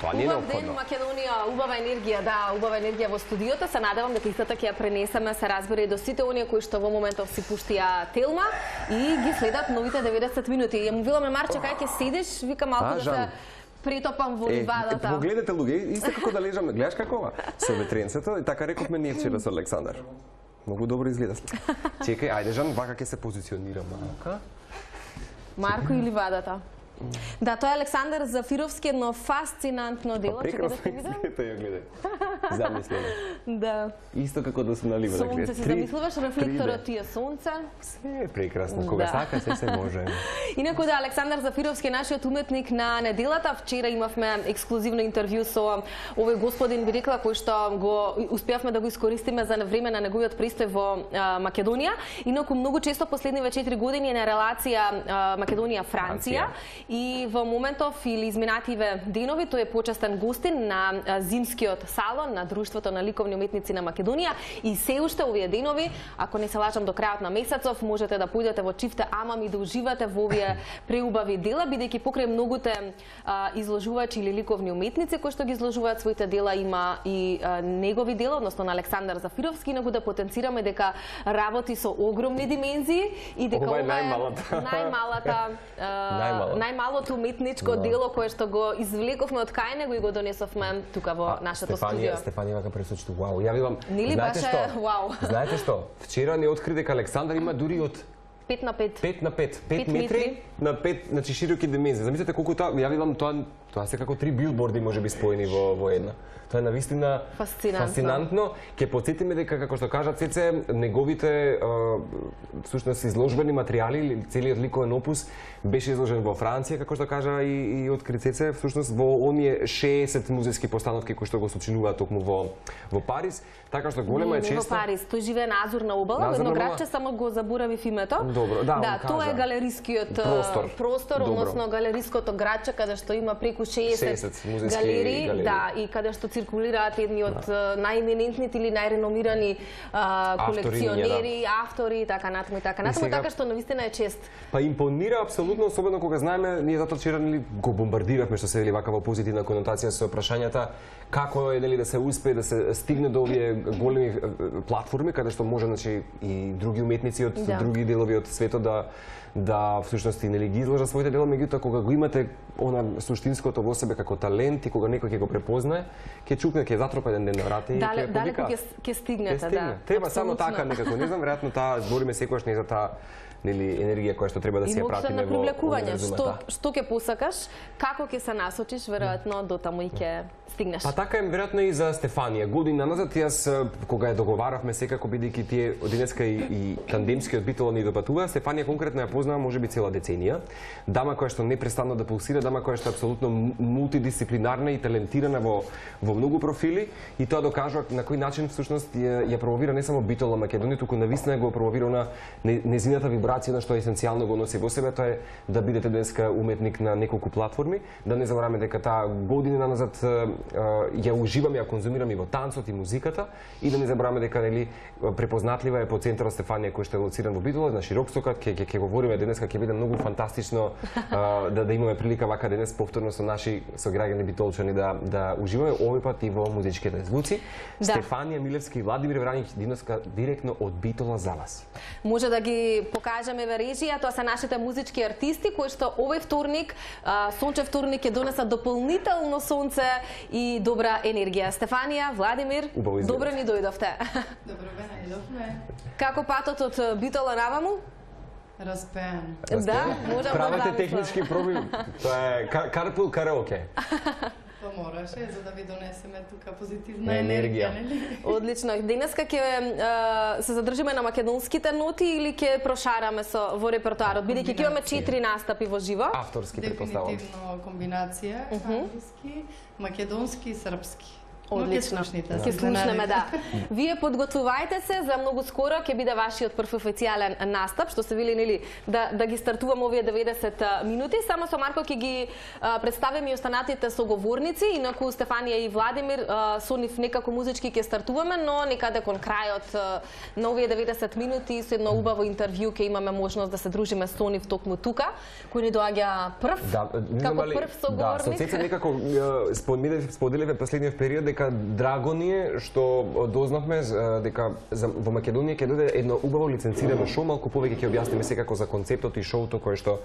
тоа не е неопходно. Убав ден, Македонија, убава енергија, да, убава енергија во студиото. Се надевам дека истата ќе ја пренесеме, се разбира и до сите оние кои што во моментов си пуштија Телма и ги следат новите 90 минути. Ја му веламе Марче, кај ќе седиш, вика малку да се притопам во ливадата. Погледнете луѓе, исто како да лежам, гледаш како со ветренцето, и така рековме ние вчера со Александар. Многу добро изгледа. Чекај, ајде Жан, вака ќе се позиционира малка. Марко и ливадата. Да, тоа е Александар Зафировски, едно фасцинантно дело. Прекрасно изгледа, ја гледај. Замислено. Да. Исто како да се налива, да гледа. Сонце, си замислуваш рефлекторот тие сонце. Се е прекрасно, кога сака се може. Инаку да, Александар Зафировски е нашиот уметник на неделата. Вчера имавме ексклузивно интервју со овој господин, би рекла, кој што го успеавме да го искористиме за време на неговиот престој во Македонија. Инаку многу често последниве 4 години е на релација Македонија-Франција. И во моментов или изминативе денови тој е почестен гостин на зимскиот салон на Друштвото на ликовни уметници на Македонија и се уште овие денови, ако не се лажам до крајот на месецов, можете да појдете во Чифте Амам и да уживате во овие преубави дела, бидејќи покрај многуте изложувачи или ликовни уметници кои што ги изложуваат своите дела, има и негови дела, односно на Александар Зафировски, инаку да потенцираме дека работи со огромни димензии и дека ова е најмалото уметничко дело кое што го извлековме од кај него и го донесовме тука во нашето студио. Стефанија вака пресочи, вау. Ја велам, знаете што? Вау. Знаете што? Вчера не откри дека Александар има дури од 5 на 5. 5 на 5. 5 метри на 5, значи широки димензии. Замислете колку тоа, ја велам тоа се како 3 билборди можеби споени во една. Тоа е навистина фасцинантно. Ќе потсетиме дека, како што кажа Цеце, неговите всушност изложбени материјали или целиот ликовен опус беше изложен во Франција, како што кажа и откри Цеце, всушност во оние 60 музејски постановки кои што го сочинуваат токму во Париз, така што голема е честа. Не во Париз, тој живее на Азурна обала, едно градче, само го заборавив името. Добро, да, тоа е галерискиот простор, односно галериското градче каде што има преку 60 галерии, да, и каде што циркулираат едни од најеминентните или најреномирани колекционери, автори и така натаму, така што навистина е чест. Па импонира апсолутно, особено кога знаеме, ние затоа вчера го бомбардиравме, што се вели вака во позитивна конотација со прашањата како е да се успее да се стигне до овие големи платформи каде што може и други уметници од други делови од светот да всушност нели ги изложат своите дела, меѓутоа кога го имате она суштинското во себе како талент и кога некој ќе го препознае, ќе чукне, ќе затропа еден ден на врата и ќе далеко ќе стигнете, да. Треба само така некако, не знам, веројатно таа збориме секогаш не за таа нели енергија која што треба да се ја пратиме во привлекување. Што ќе посакаш, како ќе се насочиш, веројатно до таму и ќе стигнеш. Па така е веројатно и за Стефанија. Година назад јас кога ја договаравме секако бидејќи тие денеска и тандемскиот битол ни допатува, Стефанија конкретно ја познава можеби цела деценија. Дама која што непрестанно да пулсира, дама која што е апсолутно мултидисциплинарна и талентирана во многу профили и тоа докажува на кој начин всушност ја промовира не само битола Македонија, туку навистина го промовира на незината вибрација на што есенцијално го носи во себе, тоа е да бидете денеска уметник на неколку платформи, да не забораваме дека таа година назад ја уживам, ја конзумирам и во танцот и музиката и да не забораваме дека нели препознатлива е по центарот Стефанија кој што е лоциран во Битола, на Широкстокат, ќе говориме денеска, ќе биде многу фантастично да имаме прилика вака денес повторно со наши сограѓани битолчани да уживаме овој пат и во музичките звуци. Стефанија Милевски и Владимир Враниќ денеска директно од Битола за вас. Може да ги покажеме во режија, тоа се нашите музички артисти кои што овој вторник, сончев вторник ќе донесат дополнително сонце и добра енергија. Стефанија, Владимир, добро ни дојдовте. Добро бе, најдовме. Како патот од Битола наваму? Распеан. Да, можам да правите технички проби. Тоа е карпул караоке. Па мораше за да ви донесеме тука позитивна енергија, нели? Одлично. Денеска ќе се задржиме на македонските ноти или ќе прошараме во репертоарот, бидејќи ќе имаме 4 настапи во живо. Авторски претпоставувам. Дефинитивно комбинација англиски, македонски и српски. Одлично. Ќе слушнеме, да. Вие подготвувајте се за многу скоро ќе биде вашиот прв официјален настап, што се вели нели да ги стартуваме овие 90 минути. Само со Марко ќе ги представиме и останатите соговорници, инаку Стефанија и Владимир со нив некако музички ќе стартуваме, но некаде кон крајот на овие 90 минути со едно убаво интервју ќе имаме можност да се дружиме со нив токму тука, кој ни доаѓа прв, како прв соговорник. Да, со Цеца некако споделиве последниот период дека драго ни е што дознавме дека во Македонија ќе дојде едно убаво лиценцирано шоу, малку повеќе ќе објасниме секако за концептот и шоуто кое што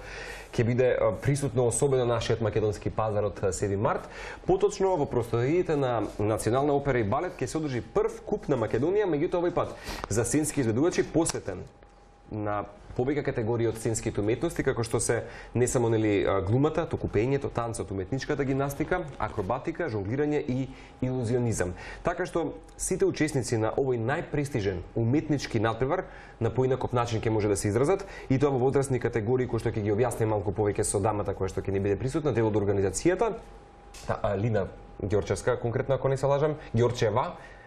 ќе биде присутно особено нашиот македонски пазар од 7 март. Поточно во просториите на Национална опера и балет ќе се одржи прв куп на Македонија, меѓутоа овој пат за сценски изведувачи посветен на повеќе категории од сценските уметности, како што се не само нели глумата, туку пеењето, танцот, уметничката гимнастика, акробатика, жонглирање и илузионизам. Така што сите учесници на овој најпрестижен уметнички надпревар на поинаков начин ќе може да се изразат, и тоа во возрастни категории кои што ќе ги објасни малку повеќе со дамата која што ќе ни биде присутна, дел од организацијата, Лина Ѓорчевска, конкретно ако не се лажам,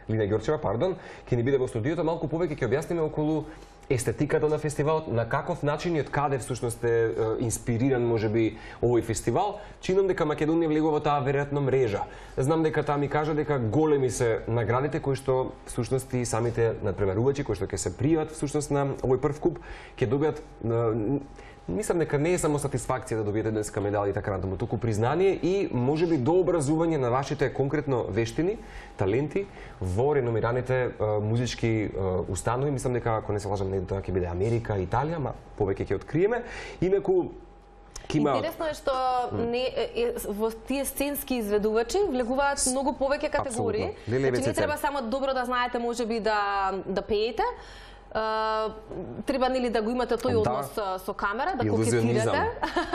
Лина Ѓорчева, пардон, ќе ни биде во студиото, малку повеќе ќе објасниме околу естетиката на фестивалот, на каков начин и од каде всушност е инспириран можеби овој фестивал. Чинам дека Македонија влегува во таа веројатно мрежа. Знам дека таа ми кажа дека големи се наградите кои што всушност и самите надпреварувачи кои што ќе се пријават всушност на овој прв куп ќе добијат. Мислам дека не е само сатисфакција да добиете денеска медали и така натаму, туку признание и можеби дообразување на вашите конкретно вештини, таленти во реномираните музички установи. Мислам дека ако не се лажам, тоа ќе биде Америка, Италија, ма повеќе ќе откриеме. Инаку интересно е што во тие сценски изведувачи влегуваат многу повеќе категории. Значи не треба само добро да знаете можеби да пеете. Треба нели да го имате тој однос со камера, да кокетирате.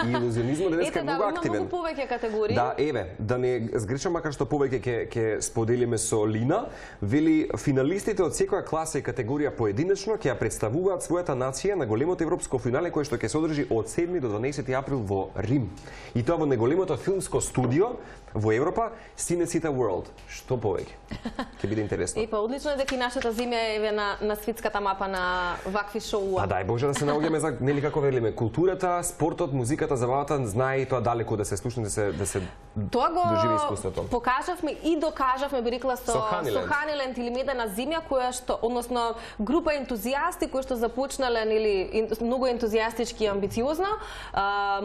Илузионизмот денеска е многу активен. Има многу повеќе категории. Да, да не сгрешам, макар што повеќе ќе споделиме со Лина. Вели, финалистите од секоја класа и категорија поединечно ќе ја представуваат својата нација на големото европско финале кој што ќе се одржи од 7 до 12 април во Рим. И тоа во неголемото филмско студио во Европа, Cinecittà World. Што повеќе? Ќе биде интересно. Па одлично е дека и нашата земја е на светската мапа на вакви шоуа. Дај Боже да се наоѓаме за нели како велиме културата, спортот, музиката, забавата, знае и тоа далеку да се слушне, да се доживи искуството. Покажавме и докажавме, би рекла, со Ханиленд или Медена земја, која што, односно група ентузијасти кои што започнале нели многу ентузијастички и амбициозно,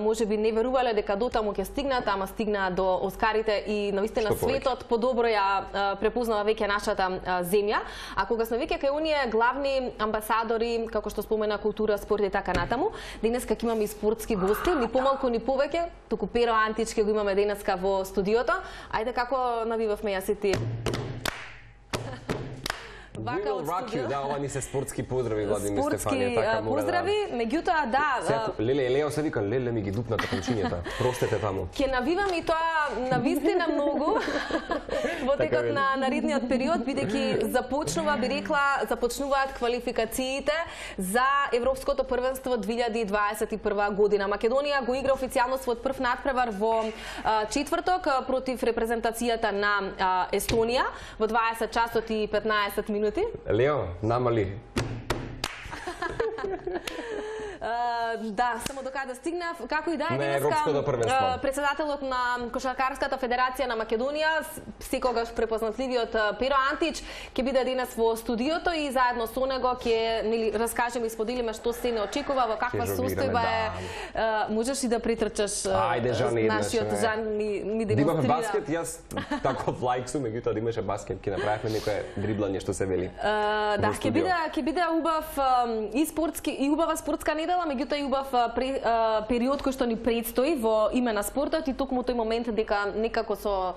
можеби не верувале дека дотаму ќе стигнат, ама стигнаа до Оскарите и навистина светот подобро ја препознава веќе нашата земја. А кога сме веќе кај оние главни амбасадори, како што спомена култура, спорт и така натаму, денеска ќе имаме и спортски гости, ни помалку ни повеќе, туку Pero Антич ќе го имаме денеска во студиото. Ајде како навивавме јас и ти. We will rock you, да, ова ни се спортски поздрави, Владимир Стефанија, така мора. Поздрави, меѓутоа да. Леле, Лео се вика, леле ми ги дупната кончињата. Простете таму. Ќе навивам и тоа навистина многу во текот на наредниот период, бидејќи започнуваат квалификациите за Европското првенство 2021 година. Македонија го игра официјално својот прв надпревар во четврток против репрезентацијата на Естонија во 20 часот и 15 минути. Лео, намали. Да, само до каде стигнав. Како и да е денеска, председателот на Кошаркарската федерација на Македонија, секогаш препознатливиот Pero Антич, ќе биде денес во студиото и заедно со него ќе нели раскажеме и споделиме што се не очекува, во каква состојба е. Можеш и да притрчаш нашиот Жан ми демонстрира. Имаме баскет, јас таков лайк сум, меѓутоа да имаше баскет, ќе направиме некое дриблање што се вели. Да, ќе биде убав и спортски и убава спортска недела, меѓутоа и убав период кој што ни предстои во име на спортот и токму тој момент дека некако со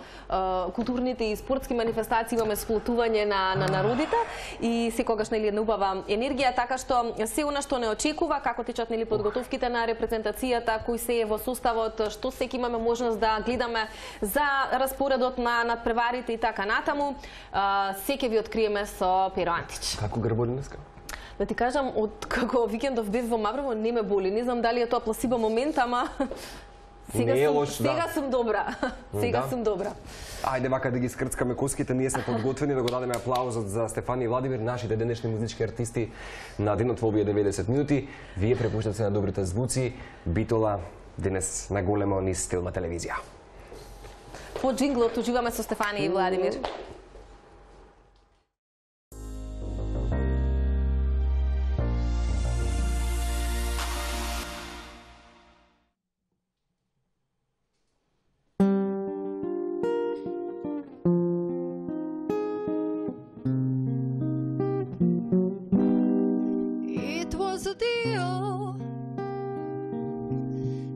културните и спортски манифестации имаме сплотување на народите и секогаш нели една убава енергија, така што се она што не очекува, како течат нели подготовките на репрезентацијата, кој се е во составот, што секи имаме можност да гледаме за распоредот на надпреварите и така натаму, се ќе ви откриеме со Pero Антич. Како грболи днеска? Да ти кажам, од како викендов бев во Маврово, не ме боли. Не знам дали е тоа пласибо момент, ама Не е лош, сега сум добра. Сега сум добра. Ајде вака да ги скрцкаме коските, ние сме подготвени да го дадеме аплаузот за Стефани и Владимир, нашите денешни музички артисти на денот во овие 90 минути. Вие препуштате се на добрите звуци, Битола денес на големо низ Стилна телевизија. По джинглот уживаме со Стефани и Владимир.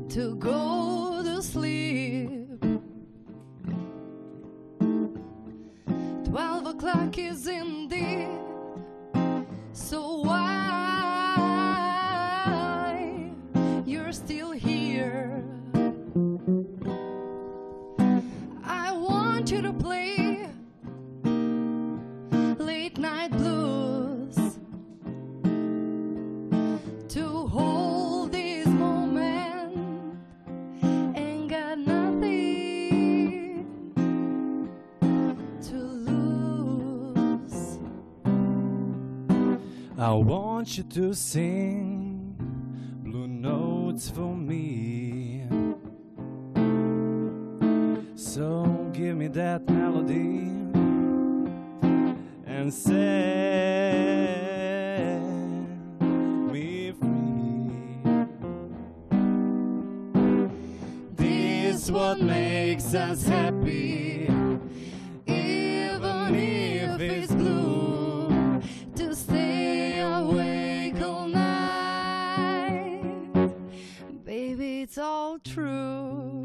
To go to sleep. 12 o'clock is indeed. So why you're still here? I want you to play late night blues, to hold this moment and got nothing to lose. I want you to sing blue notes for me. So give me that melody and set me free. This is what makes us happy, even if it's blue, to stay awake all night. Baby, it's all true.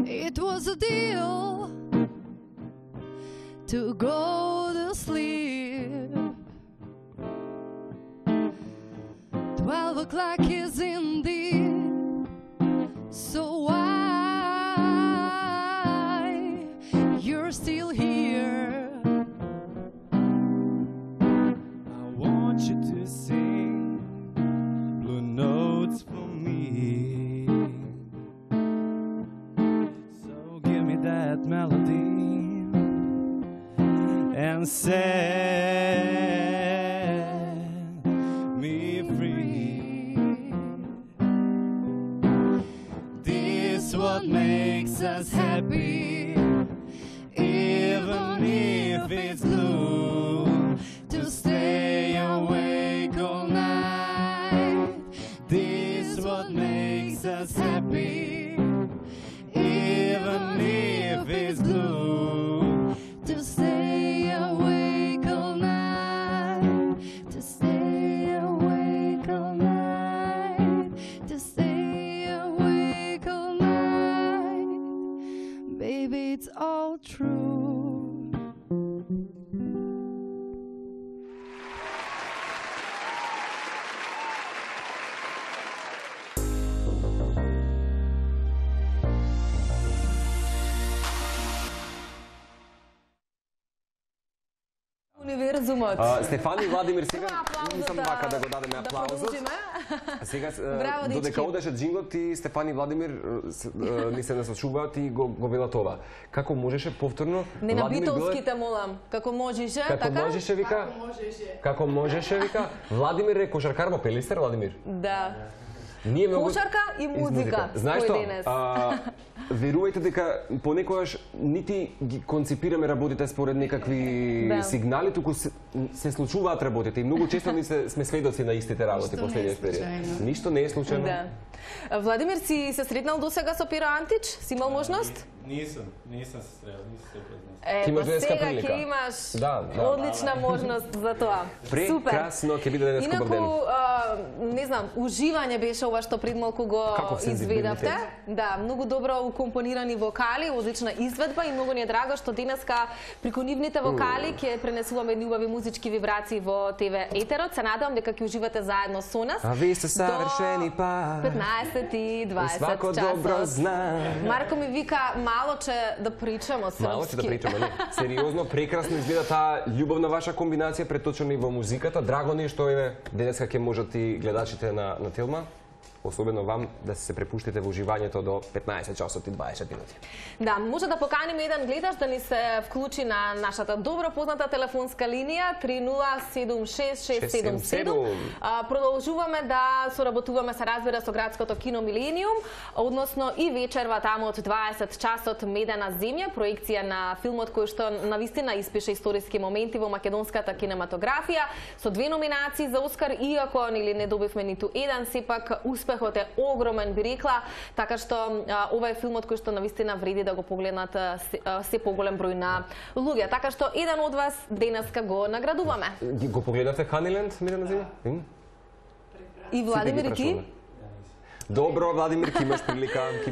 It was a deal to go to sleep. 12 o'clock is indeed. So why you're still here? I want you to sing blue notes for me. So give me that melody and set me free. This is what makes us happy, even if it's blue, to stay awake all night. This is what makes us happy, even if it's blue, To stay awake all night, to stay awake all night, to stay awake all night. Baby, it's all true. Универзумот. Стефани и Владимир, сега Аплаузот нисам вака да го дадеме аплаузот. продолжиме. Сега, Браво, дечки. додека одеше джинглот и Стефани и Владимир ни се наслушуваат и го велат ова. Како можеше повторно? Не на Владимир битолските молам. Како можеше, Како така? можеше, вика? Како можеше, вика? Владимир е кошаркар во Пелистер, Владимир? Да. Ние многу... Кошарка и музика. Знаеш Кој што? денес? Верувајте дека понекогаш нити ги конципираме работите според некакви Да. сигнали, туку се случуваат работите и многу често ни сме сведоци на истите работи Ништо не е последниот период. случајно. Ништо не е случајно. Да. Владимир, си се сретнал досега со Пиро Антич? Си имал можност? Nisam se sreo, nisam se upoznao. Ти имаш Па денеска сега прилика. ќе имаш Да, да. одлична можност за тоа. Супер. Прекрасно ќе биде денеска убав ден. Инаку, не знам, уживање беше ова што пред малку го Каков сензибилитет. изведавте. Да, многу добро укомпонирани вокали, одлична изведба и многу ни е драго што денеска преку нивните вокали ќе пренесуваме едни убави музички вибрации во ТВ Етерот. Се надевам дека ќе уживате заедно со нас. А ви сте савршени пар. 15:20 Свако добро зна. Марко ми вика малоче да причамо српски. Малоче да причамо, не. Сериозно, прекрасно изгледа таа љубовна ваша комбинација преточена и во музиката. Драго ни што денеска ќе можат и гледачите на Телма, особено вам, да се препуштите во уживањето до 15 часот и 20 минути. Да, може да поканиме еден гледач да ни се вклучи на нашата добро позната телефонска линија 30766777. Продолжуваме да соработуваме, се разбира, со градското кино Милениум, односно и вечерва таму од 20 часот Медена земја, проекција на филмот кој што навистина испише историски моменти во македонската кинематографија, со 2 номинации за Оскар, иако не добивме ниту еден, сепак успехот е огромен, би рекла, така што ова е филмот кој што навистина вреди да го погледнат се поголем број на луѓе. Така што еден од вас денеска го наградуваме. Го погледнавте Ханиленд, Медена земја? И Владимир Ки? Добро, Владимир, ки имаш прилика, Да, ки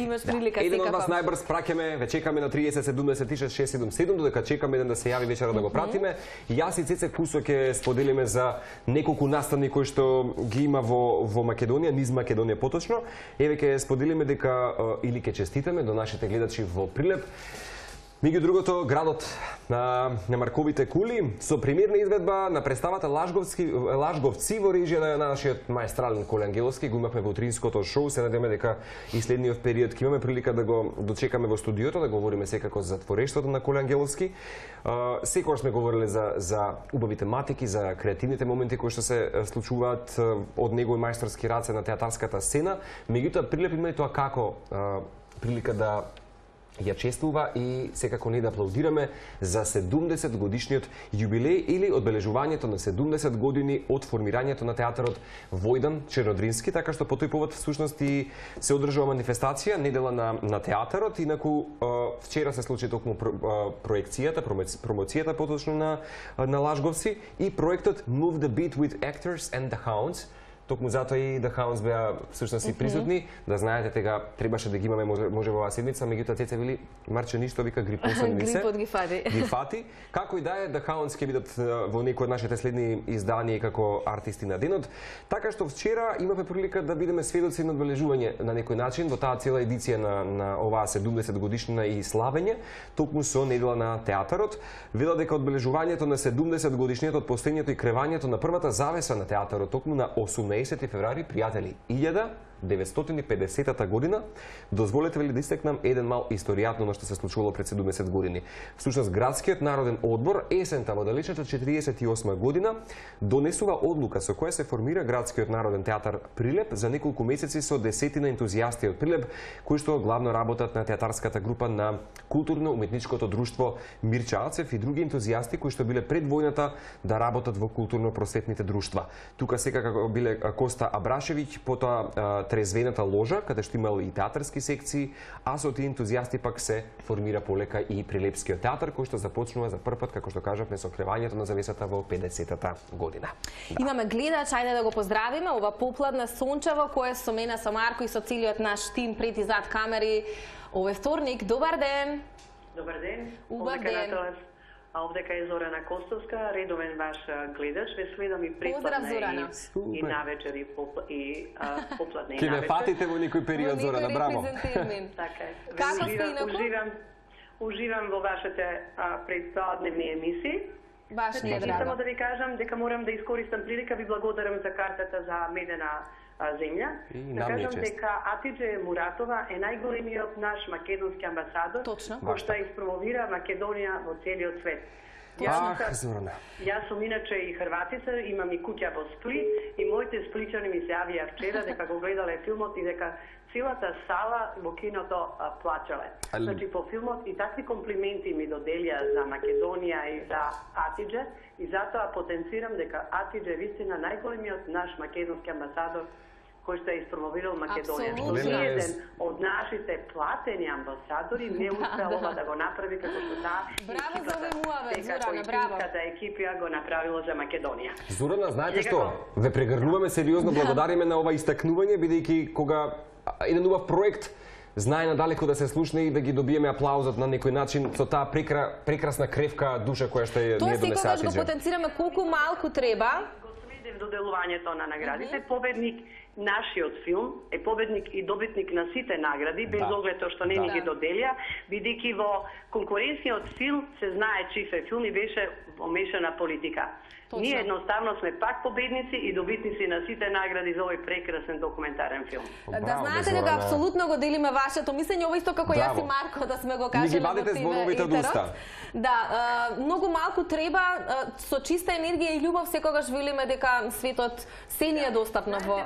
имаш прилика, Еден од вас секако. најбрз праќаме, ве чекаме на 30766777, додека чекаме еден да се јави вечера да го пратиме. Јас и Цеце Кусо ќе споделиме за неколку настани кои што ги има во Македонија, низ Македонија поточно. Еве ќе споделиме дека или ќе честитаме до нашите гледачи во Прилеп. Меѓу другото, градот на Марковите кули со премиерна изведба на представата Лажговци во режија на нашиот маестрален Коле Ангеловски. Го имавме во утринското шоу, се надеваме дека и следниот период ќе имаме прилика да го дочекаме во студиото, да говориме секако за творештвото на Коле Ангеловски. Секогаш сме говореле за убави тематики, за креативните моменти кои што се случуваат од негови мајсторски раце на театарската сцена. Меѓутоа, Прилеп има и тоа како прилика да ја чествува и секако не да аплаудираме за 70 годишниот јубилеј или одбележувањето на 70 години од формирањето на театарот Војдан Чернодрински, така што по тој повод всушност и се одржува манифестација, недела на театарот, инаку вчера се случи токму проекцијата, промоцијата поточно на Лажговци и проектот Move the Beat with Actors and the Hounds. Токму затоа и The Hounds беа всушност и присутни, да знаете, тега требаше да ги имаме може во оваа седмица, меѓутоа Цеце вели Марче ништо, вика грипосен ми се. Грипот ги фати. Ги фати. Како и да е, The Hounds ќе бидат во некои од нашите следни изданија како артисти на денот. Така што вчера имавме прилика да бидеме сведоци на одбележување на некој начин во таа цела едиција на оваа 70 годишнина и славење, токму со недела на театарот. Вела дека одбележувањето на 70 годишниот од постоењето и кревањето на првата завеса на театарот токму на 18 февруари, пријатели, 1950 година, дозволете ли да истекнам еден мал историјатно на што се случувало пред 70 години. Всушност, Градскиот народен одбор есента во далечната 48 година донесува одлука со која се формира Градскиот народен театар Прилеп за неколку месеци со десетина ентузијасти од Прилеп, кои што главно работат на театарската група на културно-уметничкото друштво Мирча Ацев и други ентузијасти кои што биле пред војната да работат во културно-просветните друштва. Тука секако биле Коста Абрашевиќ, потоа Трезвената ложа, каде што имал и театарски секции, а со тие ентузијасти пак се формира полека и Прилепскиот театар, кој што започнува за прв пат, како што кажавме, со кревањето на завесата во 50-та година. Да. Имаме гледач, ајде да го поздравиме, ова попладна сончево, кој е со мене, со Марко и со целиот наш тим пред и зад камери. Овој вторник, добар ден! Добар ден! Убав ден! Овдека е Зорана Костовска, редовен ваш гледач, ве следам и предпладне и навечер и попладне и навечер. Ке ме фатите во некој период, Зорана, браво! Така е. Како сте инаку? Уживам во вашите предпладневни емисии. Баш ни е драго. Само да ви кажам дека морам да искористам прилика, ви благодарам за картата за Медена земја. Да кажам дека Атидже Муратова е најголемиот наш македонски амбасадор, кој што испромовира Македонија во целиот свет. Јас сум иначе и хрватица, имам и куќа во Сплит и моите спличани ми се јавија вчера дека го гледале филмот и дека целата сала во киното плачале. Значи по филмот и такви комплименти ми доделија за Македонија и за Атидже и затоа потенцирам дека Атидже е вистина најголемиот наш македонски амбасадор кој што е испромовирал Македонија. Што еден од нашите платени амбасадори не успеал ова да го направи како што таа екипа го направила за Македонија. Зорана, знаете што? Ве прегрнуваме сериозно, благодариме на ова истакнување, бидејќи кога еден убав проект знае надалеку да се слушне и да ги добиеме аплаузот на некој начин со таа прекрасна кревка душа која што е Тоа ние донесе секогаш го Атиџе. потенцираме колку малку треба. Доделувањето на наградите, победник нашиот филм е победник и добитник на сите награди, без оглед што не ни ги доделија, бидејќи во конкуренцијот филм се знае чиф е филм и беше помешана политика. Ние едноставно сме пак победници и добитници на сите награди за овој прекрасен документарен филм. Да знаете дека апсолутно го делиме вашето мислење, ова исто како јас и Марко да сме го кажале во зборовите од уста. Да, многу малку треба, со чиста енергија и љубов секогаш велиме дека светот се ни е достапно во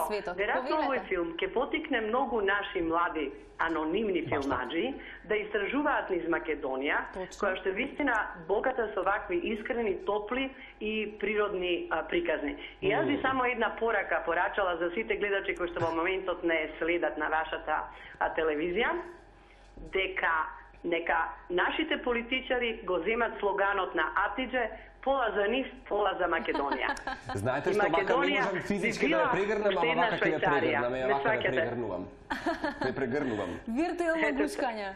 светот. Веројатно овој филм ќе потикне многу наши млади анонимни филмаджи да истражуваат низ Македонија, која што е вистина богата со вакви искрени, топли и природни приказни. И јас би само една порака порачала за сите гледачи кои што во моментот не следат на вашата телевизија, дека нека нашите политичари го земат слоганот на Атиџе: пола за нив, пола за Македонија. Знаете што вака не можам физички да ја прегрнам, ама вака ќе ја прегрнам, вака ја прегрнувам. Не прегрнувам. Виртуелно гушкање.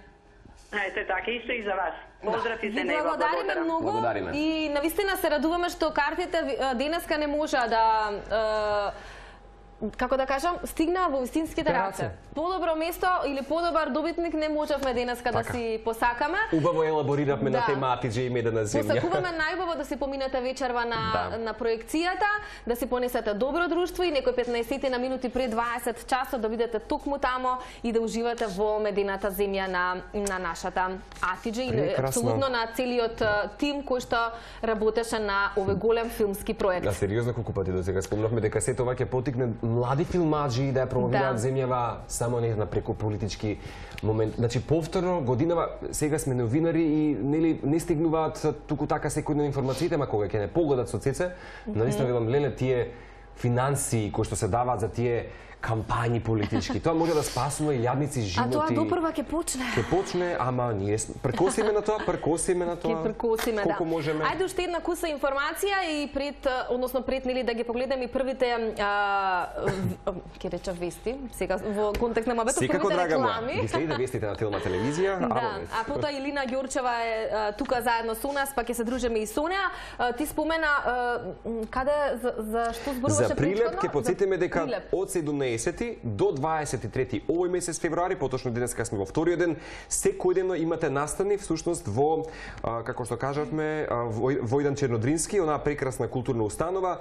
Ете така, исто и за вас. Поздрав и се него. Благодариме многу и навистина се радуваме што картите денеска не можа да како да кажам, стигнаа во вистинските раце. Подобро место или подобар добитник не можевме денеска да си посакаме. Убаво елабориравме на тема Атиџе и медена земја. Посакуваме најубаво да си поминете вечерва на проекцијата, да си понесете добро друштво и некој 15 на минути пред 20 часот да бидете токму тамо и да уживате во медената земја на нашата Атиџе и апсолутно на целиот тим кој што работеше на овој голем филмски проект. Да, сериозно колку пати досега спомнавме дека сето ова ќе потикне млади филмаджи да ја промовираат земјава само не на преку политички момент. Значи повторно годинава сега сме новинари и нели не стигнуваат туку така секојдневно информациите, ма кога ќе не погледат со цеце, наистина велам леле тие финансии кои што се даваат за тие кампањи политички. Тоа може да спасува и јадници животи. А тоа допрва ќе почне. Ќе почне, ама ние прекосиме на тоа, Ќе прекосиме, колку можеме. Ајде уште една куса информација и пред нели да ги погледаме и првите ќе реча вести, сега во контекст на мабето првите реклами. Ги следите вестите на Телма телевизија. Да, а потоа Илина Ѓорчева е тука заедно со нас, па ќе се дружиме и со неа. Ти спомена каде за што зборуваше за Прилеп, ќе потсетиме дека од 17 до 23 овој месец февруари, поточно денеска сме во вториот ден, секојдневно имате настани всушност во како што кажавме Војдан Чернодрински, онаа прекрасна културна установа,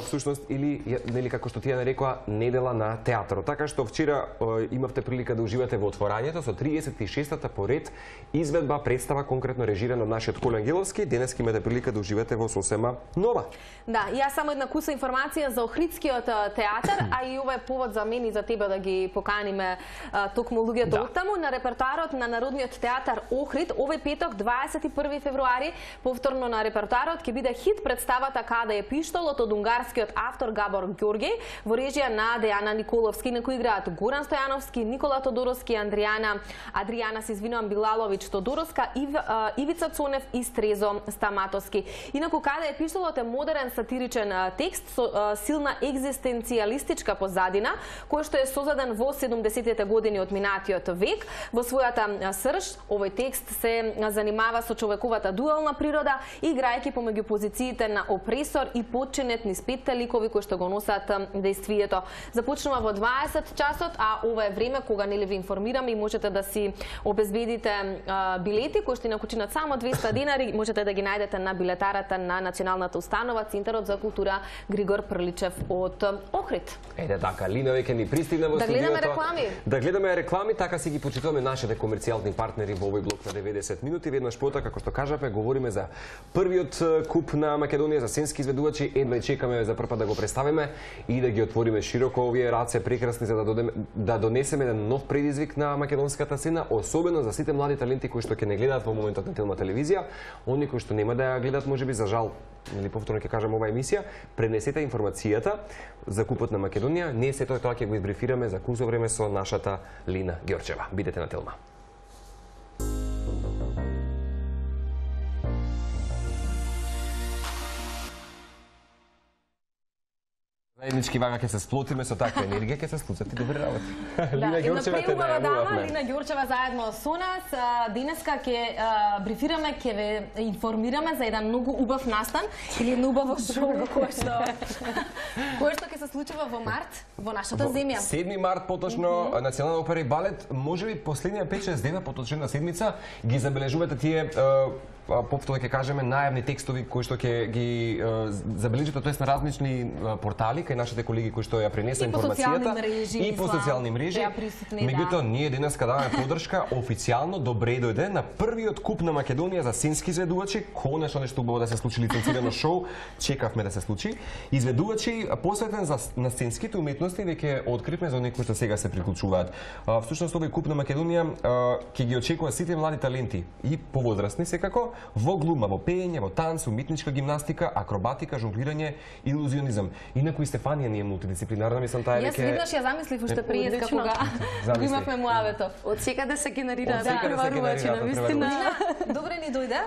всушност или нели како што тие нарекоа недела на театарот. Така што вчера имавте прилика да уживате во отворањето со 36-та поред изведба представа конкретно режирана од нашиот Коли Ангеловски. Денеска имате прилика да уживате во сосема нова. Да, јас само една куса информација за Охридскиот театар, а и ова е повод за мен и за тебе да ги поканиме токму луѓето оттаму на репертоарот на Народниот театар Охрид овој петок 21 февруари. Повторно на репертоарот ќе биде хит представата Каде е пиштолот од унгарскиот автор Габор Ѓорѓеј во режија на Дејана Николовски, на кој играат Горан Стојановски, Никола Тодоровски, Адријана Билаловиќ Тодороска, Ивица Цонев и Стрезо Стаматовски. Инаку Каде е пиштолот е модерен сатиричен текст со силна екзистенцијалистичка позадина, кој што е создаден во 70-тите години од минатиот век. Во својата срж, овој текст се занимава со човековата дуална природа, играјќи помеѓу позициите на опресор и подчинет низ петте ликови кои што го носат дејствието. Започнува во 20 часот, а ова е време кога нели ви информираме и можете да си обезбедите билети кои што инаку чинат само 200 денари, можете да ги најдете на билетарата на Националната установа Центарот за култура Григор Прличев од Охрид. Ете така, Лина веќе ни пристигна во студиото. Да гледаме реклами. Да гледаме реклами, така си ги почитуваме нашите комерцијални партнери во овој блок на 90 минути. Веднаш пота, како што кажавме, говориме за првиот куп на Македонија за сценски изведувачи. Едва чекаме за прв пат да го представиме и да ги отвориме широко овие раце прекрасни за да донесеме еден нов предизвик на македонската сцена, особено за сите млади таленти кои што ќе не гледаат во моментот на Телма телевизија, оние кои што нема да ја гледаат можеби за жал, или повторно ќе кажам оваа емисија, пренесете информацијата за купот на Македонија. Ние сето тоа ќе го избрифираме за кусо време со нашата Лина Ѓорчева. Бидете на Телма. Заеднички вака ќе се сплотиме со таква енергија, ќе се случат и добри работи. Лина една Ѓорчева те преубава дама, најавувавме. Лина Ѓорчева заедно со нас. Денеска ќе брифираме, ќе ве информираме за еден многу убав настан или едно убаво шоу кое што ќе се случува во март во нашата земја. 7 март поточно Национална опера и балет, можеби последнија 5-6 дена поточна седмица ги забележувате тие повторно ќе кажеме најавни текстови кои што ќе ги забележите, тоест на различни портали кај нашите колеги кои што ја пренеса информацијата и по социјални мрежи. Меѓутоа ние денеска даваме поддршка официјално, добре дојде на првиот куп на Македонија за сценски изведувачи, конечно нешто убаво да се случи лиценцирано шоу, чекавме да се случи. Изведувачи посветен на сценските уметности веќе откривме за некои што сега се приклучуваат. Всушност овој куп на Македонија ќе ги очекува сите млади таленти и повозрастни секако во глума, во пеење, во танц, уметничка гимнастика, акробатика, жонглирање, илузионизам. Инаку и Стефанија не е мултидисциплинарна, мислам таа Јас веднаш ја замислив уште преска кога го имавме Муаветов. Од секаде се генерираат преварувачи, навистина. Добре ни дојде.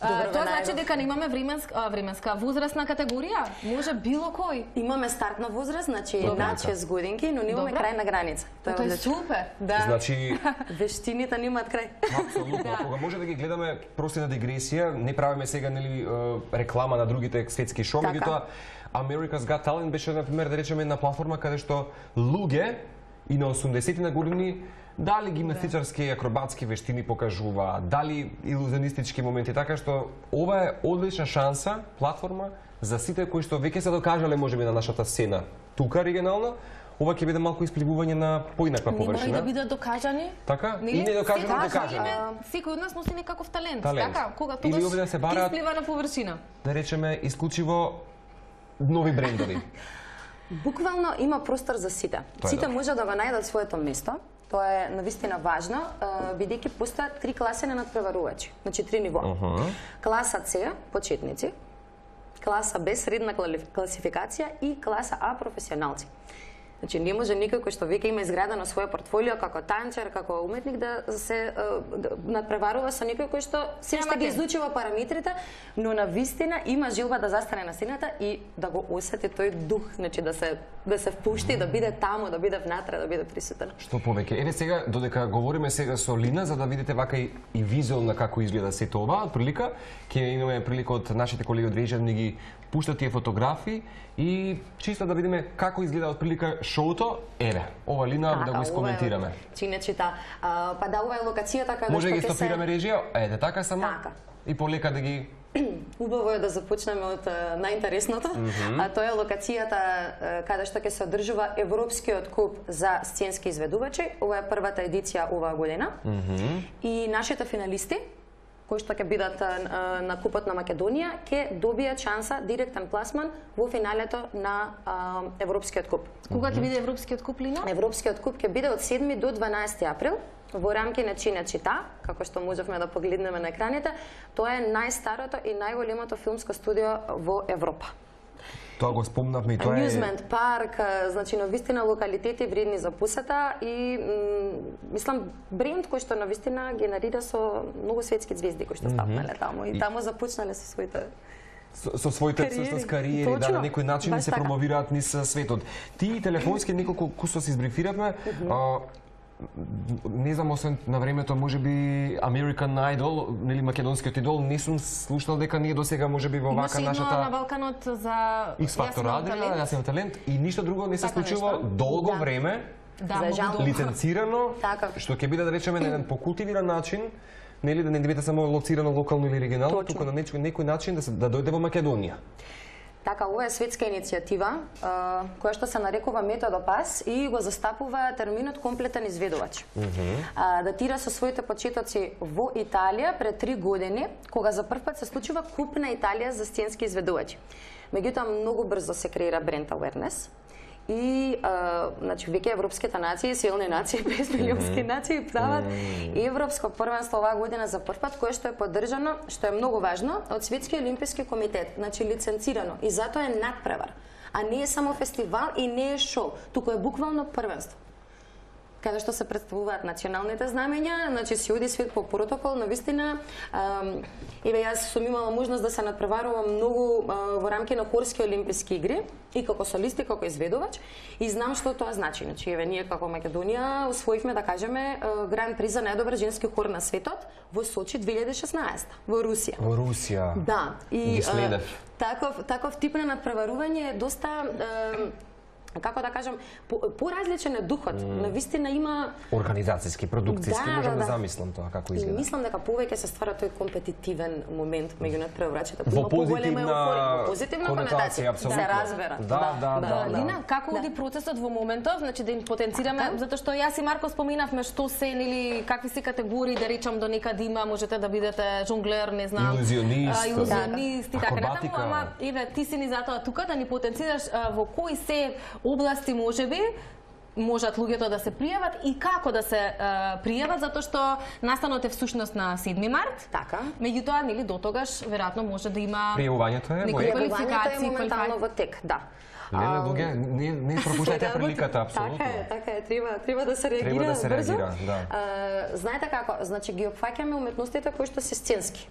Тоа значи дека немаме временска возрастна категорија? Може било кој? Имаме стартна возраст, значи над 6 годинки, но немаме крајна граница. Тоа е супер. Да. Значи вештините немаат крај. Апсолутно. Кога може да ги гледаме прости на дигресија, не правиме сега нели реклама на другите светски шоу, меѓутоа America's Got Talent беше на пример да речеме една платформа каде што луѓе и на 80-ти на години дали гимнастичарски и акробатски вештини покажува, дали илузионистички моменти, така што ова е одлична шанса, платформа за сите кои што веќе се докажале можеби на нашата сцена тука регионално. Ова ќе биде малку испливување на поинаква површина. Не мора да бидат докажани. Така? И не докажани, докажани. Секој од нас носи некаков талент. Така, кога тогаш исплива на површина. Да речеме исклучиво нови брендови. Буквално има простор за сите. Сите може да го најдат своето место. Тоа е навистина важно, бидејќи постојат 3 класи на надпреварувачи, значи 3 ниво. Класа С, почетници, класа Б, средна класификација и класа А, професионалци. Значи, не може никој кој што веќе има изградено свое портфолио како танчер, како уметник да се надпреварува со некој кој што се уште ги изучува параметрите, но на вистина има желба да застане на сцената и да го осети тој дух, значи да се впушти, да биде таму, да биде внатре, да биде присутен. Што повеќе. Еве сега додека говориме сега со Лина за да видите вака и визуелно како изгледа сето ова, отприлика ќе имаме прилика од нашите колеги од режија да ги пуштат тие фотографии и чисто да видиме како изгледа отприлика шоуто. Еве, ова Лина да го искоментираме. Чинечита, па да, ова е локацијата каде може да ги стопираме режија? Еде така само. Така. И полека да ги Убаво е да започнеме од најинтересното, а тоа е локацијата каде што ќе се одржува Европскиот куп за сценски изведувачи. Ова е првата едиција оваа година. И нашите финалисти кои што ќе бидат на Купот на Македонија, ќе добијат шанса директен пласман во финалето на Европскиот куп. Кога ќе биде Европскиот куп, Лина? Европскиот куп ќе биде од 7 до 12 април во рамки на Чинечита, како што можевме да погледнеме на екраните. Тоа е најстарото и најголемото филмско студио во Европа. Тоа го спомнавме и тоа е Amusement парк, значи навистина локалитети вредни за посета и мислам бренд кој што навистина генерира со многу светски звезди кои што стапнале таму и таму започнале со своите со своите всушност кариери, да, на некој начин се промовираат низ светот. Ти телефонски неколку кустоси избрифиравме. Не знам, освен на времето, можеби American Idol, нели македонскиот идол, не сум слушнал дека ние досега можеби во вака нашата на Балканот за X-Factor радија, јас имам талент и ништо друго не се случило долго време. За жал. Лиценцирано, што ќе биде да речеме на еден покултивиран начин, нели да не биде само лоцирано локално или регионално, туку на некој начин да дојде во Македонија. Така, ова е светска иницијатива, која што се нарекува Методопас и го застапува терминот комплетен изведувач. Датира со своите почетоци во Италија пред 3 години, кога за прв пат се случува Куп на Италија за сценски изведувачи. Меѓутоа, многу брзо се креира бренд awareness и значи веќе европските нации, силни нации, 5 милионски нации прават европско првенство оваа година за прв пат, кое што е поддржано, што е многу важно, од Светски олимписки комитет, значи лиценцирано и затоа е надпревар, а не е само фестивал и не е шоу, туку е буквално првенство. каде што се представуваат националните знамења, значи се оди свет по протокол, навистина. Еве јас сум имала можност да се надпреварувам многу во рамки на хорски олимписки игри и како солист и како изведувач и знам што тоа значи. Значи еве ние како Македонија освоивме да кажеме гран при за најдобар женски хор на светот во Сочи 2016 во Русија. Во Русија. Да, и следев. Таков тип на надпреварување е доста како да кажам, поразличен е духот. Навистина има организацијски, продукцијски, можам да замислам тоа како изгледа. И мислам дека повеќе се ствара тој компетитивен момент меѓу надпреварачите. Во позитивна конотација, апсолутно. се разбера. Да. Лина, како оди процесот во моментов, значи да им потенцираме, затоа што јас и Марко споминавме што се или какви се категории, да речам до некаде има, можете да бидете жонглер, не знам, илузионист и така натаму, ама еве ти си ни затоа тука да ни потенцираш во кои се области можат луѓето да се пријават и како да се пријават, затоа што настанот е всушност на 7 март. Така. Меѓутоа, нели до тогаш веројатно може да има пријавувањето е квалификации моментално во тек, да. Не пропуштете приликата, апсолутно. Така е, треба да се реагира брзо. Знаете како, значи ги опфаќаме уметностите кои што се сценски.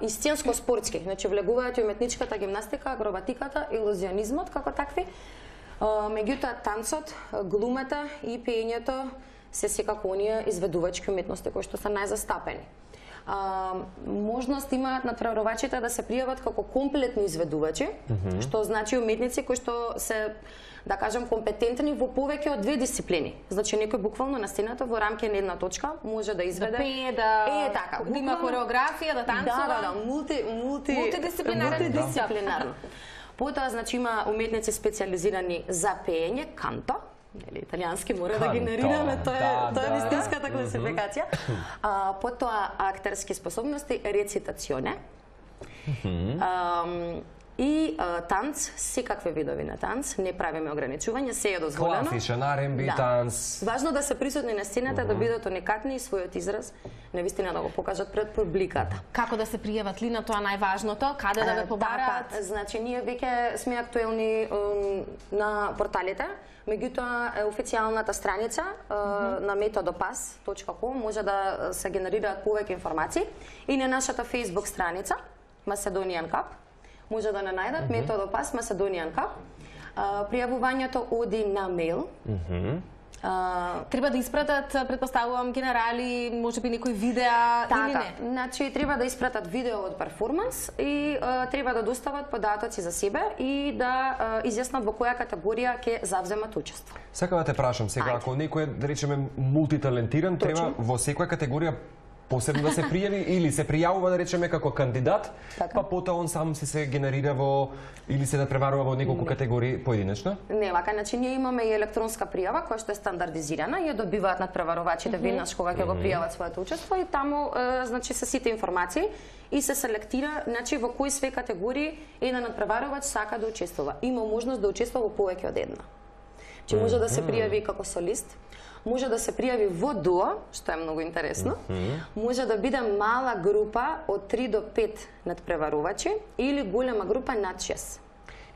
И сценско-спортски, значи влегуваат и уметничката гимнастика, акробатиката, илузионизмот како такви. Меѓутоа танцот, глумата и пеењето се секако оние изведувачки уметности кои што се најзастапени. Можност имаат надпреварувачите да се пријават како комплетни изведувачи, што значи уметници кои што се, да кажам, компетентни во повеќе од 2 дисциплини. Значи некој буквално на сцената во рамки на една точка може да изведе, да пее, да има хореографија, да танцува, мултидисциплинарно. Потоа, значи, има уметници специализирани за пеење, канто, италијански мора да генерираме, тоа е вистинската класификација. Потоа, актерски способности, рецитационе. И танц, секакви видови на танц, не правиме ограничување, се е дозволено. Класичен R&B танц. Важно да се присутни на сцената, да бидат уникатни и својот израз навистина да го покажат пред публиката. Како да се пријават, Лина, тоа најважното, каде да ве побараат? Значи, ние веќе сме актуелни на порталите, меѓутоа официјалната страница на metodopass.com може да се генерираат повеќе информации и на нашата Facebook страница Macedonian Cup може да не најдат Metodopass Macedonian Cup. Пријавувањето оди на мејл. Треба да испратат, предпоставувам, генерали, можеби некои видеа или не? Значи треба да испратат видео од перформанс и треба да достават податоци за себе и да изјаснат во која категорија ќе завземат учество. Сакам да те прашам сега, ако некој, да речеме, мултиталентиран, треба во секоја категорија посебно да се пријави или се пријавува, да речеме, како кандидат, па потоа он сам се генерира во или се надпреварува во неколку категории поединечно? Не, вака, значи ние имаме и електронска пријава која што е стандардизирана и ја добиваат надпреварувачите веднаш кога ќе го пријават своето учество и таму значи се сите информации и се селектира, значи во кои све категории еден надпреварувач сака да учествува. Има можност да учествува во повеќе од една. Че може да се пријави како солист, може да се пријави во дуо, што е многу интересно. Може да биде мала група од 3 до 5 надпреварувачи или голема група над 6.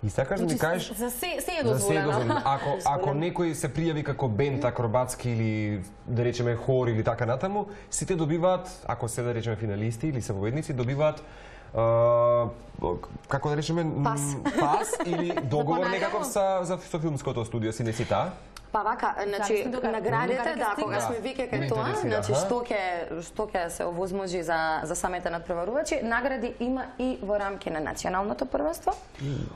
И сакаш да ми кажеш за се е дозволено. Ако некој се пријави како бенд акробатски или да речеме хор или така натаму, сите добиваат, ако се да речеме финалисти или се победници, добиваат како да речеме пас или договор некаков со филмското студио, си не си таа? Па вака, значи наградите, да, кога сме веќе кај тоа, значи што ќе се овозможи за самите надпреварувачи, награди има и во рамки на националното првенство,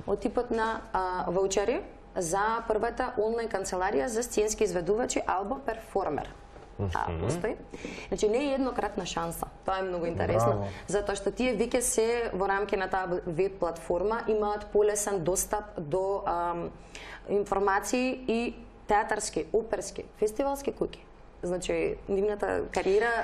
од типот на ваучери за првата онлайн канцеларија за сценски изведувачи Albo Performer. Постои. Значи не е еднократна шанса. Тоа е многу интересно, затоа што тие веќе се во рамки на таа веб платформа имаат полесен достап до информации и театарски, оперски, фестивалски куќи. Значи, нивната кариера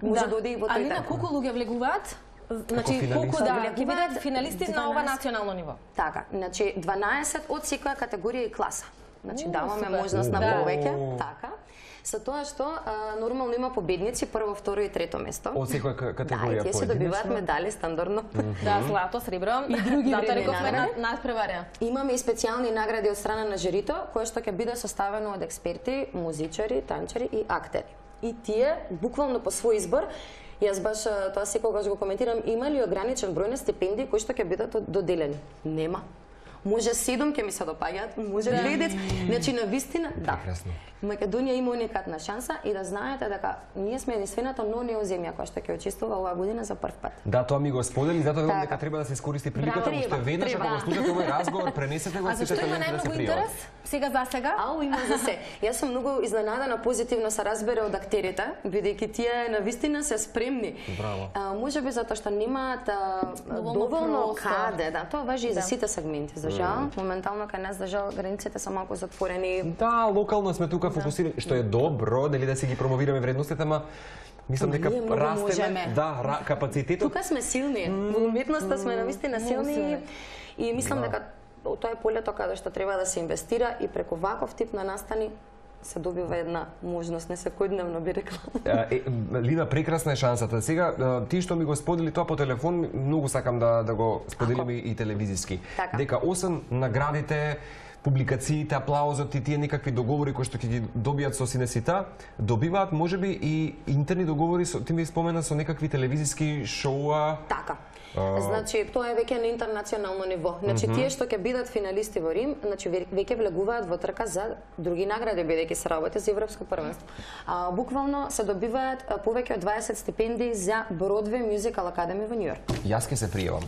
може да оди и во тој Алина, колку луѓе влегуваат? Значи, колку ќе бидат финалисти на ова национално ниво? Така, значи 12 од секоја категорија и класа. Значи, даваме можност на повеќе, така. Со тоа што нормално има победници прво, второ и трето место. Од секоја категорија поединечно. Да, и тие се добиваат медали стандардно. Да, злато, сребро и други затоа рековме награди. надпреваре. Имаме и специјални награди од страна на жирито, кое што ќе биде составено од експерти, музичари, танчари и актери. И тие буквално по свој избор. Јас баш тоа секогаш го коментирам, има ли ограничен број на стипендии кои што ќе бидат доделени? Нема. Може 7 ќе ми се допаѓаат, може 9. Значи на вистина, да. Прекрасно. Македонија има уникатна шанса и да знаете дека ние сме единствената неоземја која што ќе учествува оваа година за прв пат. Да, тоа ми го сподели, затоа велам Така. дека треба да се искористи приликата, Браво, уште веднаш ако го слушате овој разговор, пренесете го А сите зашто има таленти да се најмногу пријават. интерес? Сега за сега? Ау, има за се. Јас сум многу изненадана, позитивно се разбере од актерите, бидејќи тие навистина се спремни. Браво. Можеби затоа што немаат Доволно доволно простор. каде, да, тоа важи и за сите сегменти, за жал. Моментално кај нас за жал границите се малку затворени. Да, локално сме тука фокусирани, што е добро, нели да си ги промовираме вредностите, ама мислам дека Ние многу растеме, можеме. да, капацитетот. Тука сме силни. Во уметноста сме навистина силни и мислам дека тоа е полето каде што треба да се инвестира и преку ваков тип на настани се добива една можност, не секојдневно би рекла. Лина, прекрасна е шансата. Сега, ти што ми го сподели тоа по телефон, многу сакам да го споделиме и телевизиски. Така. Дека освен наградите, публикациите, аплаузот и тие некакви договори кои што ќе ги добијат со синесита, добиваат можеби и интерни договори, ти ми спомена со некакви телевизиски шоуа. Така. Значи, тоа е веќе на интернационално ниво. Значи, тие што ќе бидат финалисти во Рим, значи веќе влегуваат во трка за други награди, бидејќи се работи за европско првенство. Буквално се добиваат повеќе од 20 стипендии за Broadway Musical Academy во Њујорк. Јас ќе се пријавам.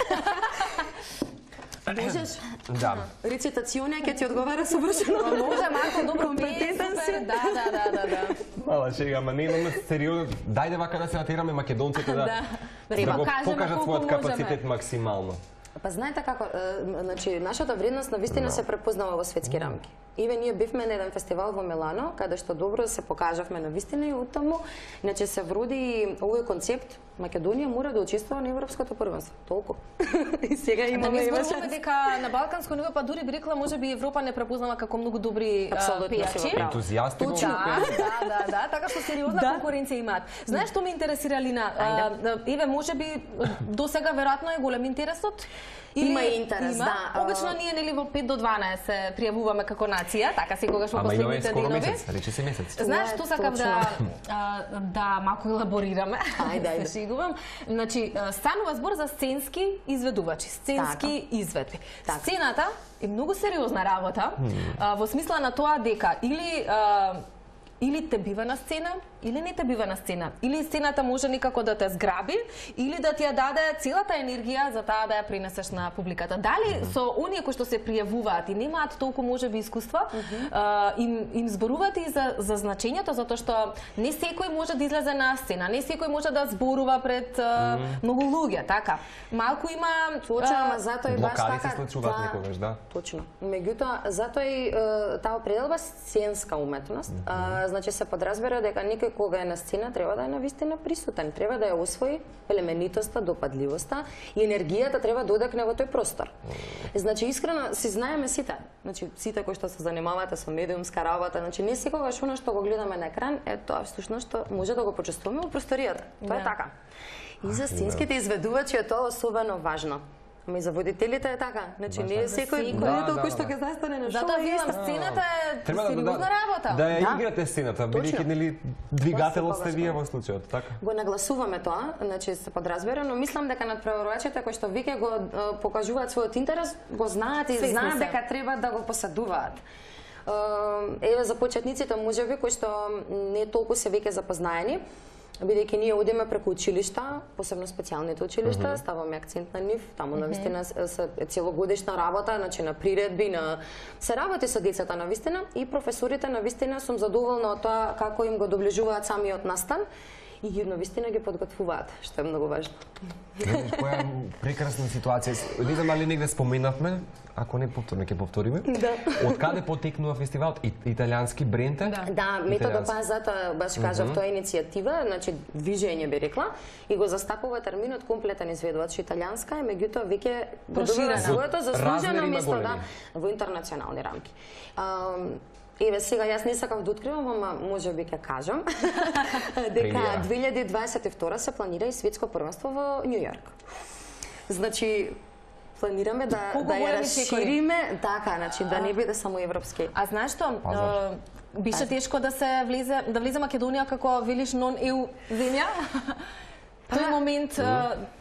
Можеш? Да. Рецитационија ќе ти одговара совршено. Може, Марко, добро Компетентен си. Да. Мала шега, ама не имаме сериозно. Дајде вака да се натераме македонците да го покажат својот капацитет максимално. Па знаете како, значи нашата вредност навистина се препознава во светски рамки. Иве ние бивме на еден фестивал во Милано, каде што добро се покажавме навистина и оттаму, значи се вроди овој концепт, Македонија мора да учествува на европското првенство. Толку. И сега Да имаме не има зборуваме дека на балканско ниво, па дури би рекла, можеби Европа не препознава како многу добри Апсолутно си пејачи. во право. Ентузијасти во Да, така што сериозна конкуренција имаат. Знаеш што ме интересира, Лина? Еве, можеби до сега веројатно е голем интересот. Има и интерес, да. Обично ние нели во 5 до 12 се пријавуваме како нација, така секогаш во Ама има последните скоро денови. месец, рече се месец. Знаеш Това е што сакам да малку елаборираме. Ајде. Се шегувам. Значи, станува збор за сценски изведувачи, сценски изведби. Сцената е многу сериозна работа, во смисла на тоа дека или те бива на сцена, или не те бива на сцена. Или сцената може некако да те зграби, или да ти ја даде целата енергија за таа да ја пренесеш на публиката. Дали со оние кои што се пријавуваат и немаат толку можеби искуства, им зборуваат и за значењето, затоа што не секој може да излезе на сцена, не секој може да зборува пред многу луѓе, така. Малку има Точно, ама затоа и баш блокади така. се случуваат некогаш, да. Точно. Меѓутоа, затоа и таа определба сценска уметност, значи се подразбира дека некој кога е на сцена треба да е навистина присутен, треба да ја освои племенитоста, допадливоста и енергијата треба да одекне во тој простор. Значи искрено си знаеме сите, значи сите кои што се занимавате со медиумска работа, значи не секогаш она што го гледаме на екран е тоа всушност што може да го почувствуваме во просторијата. Тоа е така. И за сценските изведувачи е тоа особено важно. Ама и за водителите е така. Значи не е секој водител кој што ќе застане на шоу. Затоа велам, сцената е сериозна работа. Да ја играте сцената, бидејќи нели двигателот сте вие во случајот, така? Го нагласуваме тоа, значи се подразбира, но мислам дека надпреварувачите кои што веќе го покажуваат својот интерес, го знаат и знаат дека треба да го посадуваат. Еве за почетниците можеби кои што не толку се веќе запознаени, бидејќи ние одиме преку училишта, посебно специјалните училишта, ставаме акцент на нив, таму навистина се целогодишна работа, значи на приредби, се работи со децата навистина и професорите навистина сум задоволна од тоа како им го доближуваат самиот настан и ги навистина ги подготвуваат, што е многу важно. Која прекрасна ситуација. Не знам дали негде споменавме, ако не повторно ќе повториме. Да. Од каде потекнува фестивалот? Италијански бренд е? Да, методо па затоа баш кажав, тоа е иницијатива, значи движење би рекла, и го застапува терминот комплетен изведувач италијанска, меѓутоа веќе добива своето заслужено место во интернационални рамки. Еве сега јас не сакав да откривам, ама можеби ќе кажам дека 2022 се планира и светско првенство во Њу Јорк. Значи планираме да ја расшириме, така, значи да не биде само европски. А знаеш што? Беше тешко да се влезе Македонија како велиш нон-ЕУ земја? Тој момент,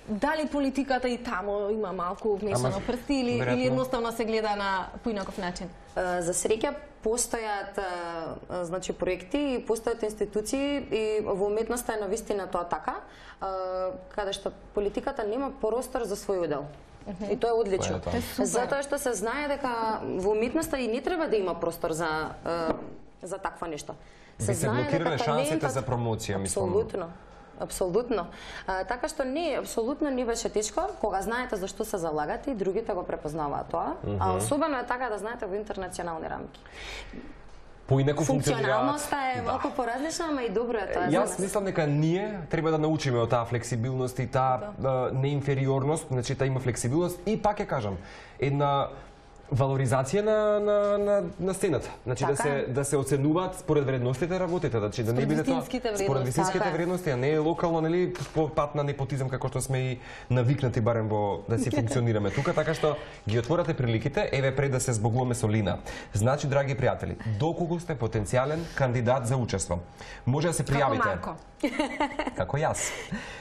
дали политиката и таму има малку вмешано прсти или едноставно се гледа на поинаков начин? За среќа постојат значи проекти и постојат институции и во уметноста е навистина тоа така, каде што политиката нема простор за свој удел. И тоа е одлично. Затоа што се знае дека во уметноста и не треба да има простор за такво нешто. Се знае дека шансите за промоција, мислам. Апсолутно. Така што не, апсолутно не беше тешко, кога знаете за што се залагате и другите го препознаваат тоа, а особено е така да знаете во интернационални рамки. Поинаку функционира. Функционалноста е малку поразлична, ама и добро е тоа за нас. Јас мислам дека ние треба да научиме од таа флексибилност и таа неинфериорност, значи таа има флексибилност и пак ќе кажам, една валоризација на сцената. Значи да се оценуваат според вредностите работите, значи да не биде тоа според вистинските вредности, а не локално, нели, по пат на непотизам како што сме и навикнати барем во да си функционираме тука, така што ги отворате приликите, еве пред да се збогуваме со Лина. Значи, драги пријатели, доколку сте потенцијален кандидат за учество, може да се пријавите. Како јас.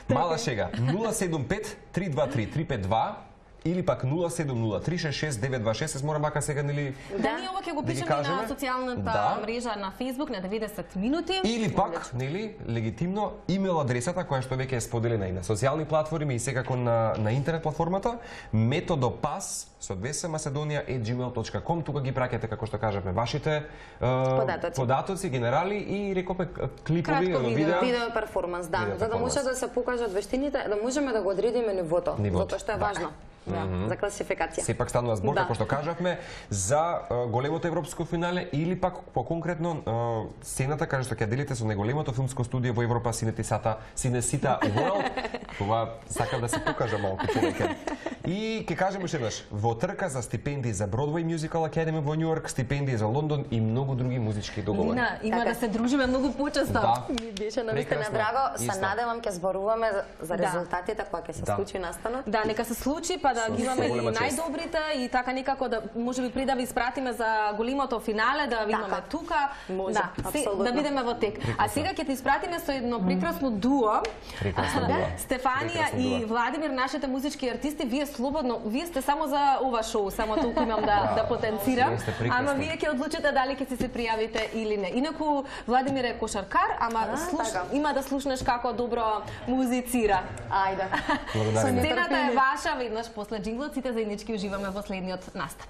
Мала шега 075 323 352 или пак 070-366-926, се мора мака сега, нели... Да, ние ова ќе го пишеме на социјалната мрежа на Facebook на 90 минути. Или пак, нели, легитимно, имейл адресата која што веќе е споделена и на социјални платформи и секако на интернет платформата, metodopас со 2s macedonia@gmail.com, тука ги праќате, како што кажавме, вашите податоци, генерали и рековме клипови, видео перформанс, да, за да може да се покажат вештините, да можеме да го одредиме нивото, затоа што е важно. За класификација. Сепак станува збор, како што кажавме, за големото европско финале или пак по-конкретно сцената каде што ќе делите со најголемото филмско студио во Европа, Cinecittà World. Това сакам да се покажа малку човеке. И ќе кажем уште еднаш, во трка за стипендии за Broadway Musical Academy во Њу Јорк, стипендии за Лондон и многу други музички договори. Има да се дружиме многу почесто. Ми беше навистина драго, се надевам ќе зборуваме за резултатите кога ќе се случи настанот. Да, нека се случи, па да ги имаме и најдобрите и така некако да можеби при да ви испратиме за големото финале, да ви имаме тука. Да бидеме во тек. А сега ќе ти испратиме со едно прекрасно дуо. Стефанија и Владимир, нашите музички артисти, вие слободно, вие сте само за ова шоу, само толку имам да потенцирам. Ама вие ќе одлучите дали ќе се пријавите или не. Инаку Владимир е кошаркар, ама има да слушнеш како добро музицира. Ајде. Сцената е ваша, веднаш после джинглот, сите заеднички уживаме во следниот настап.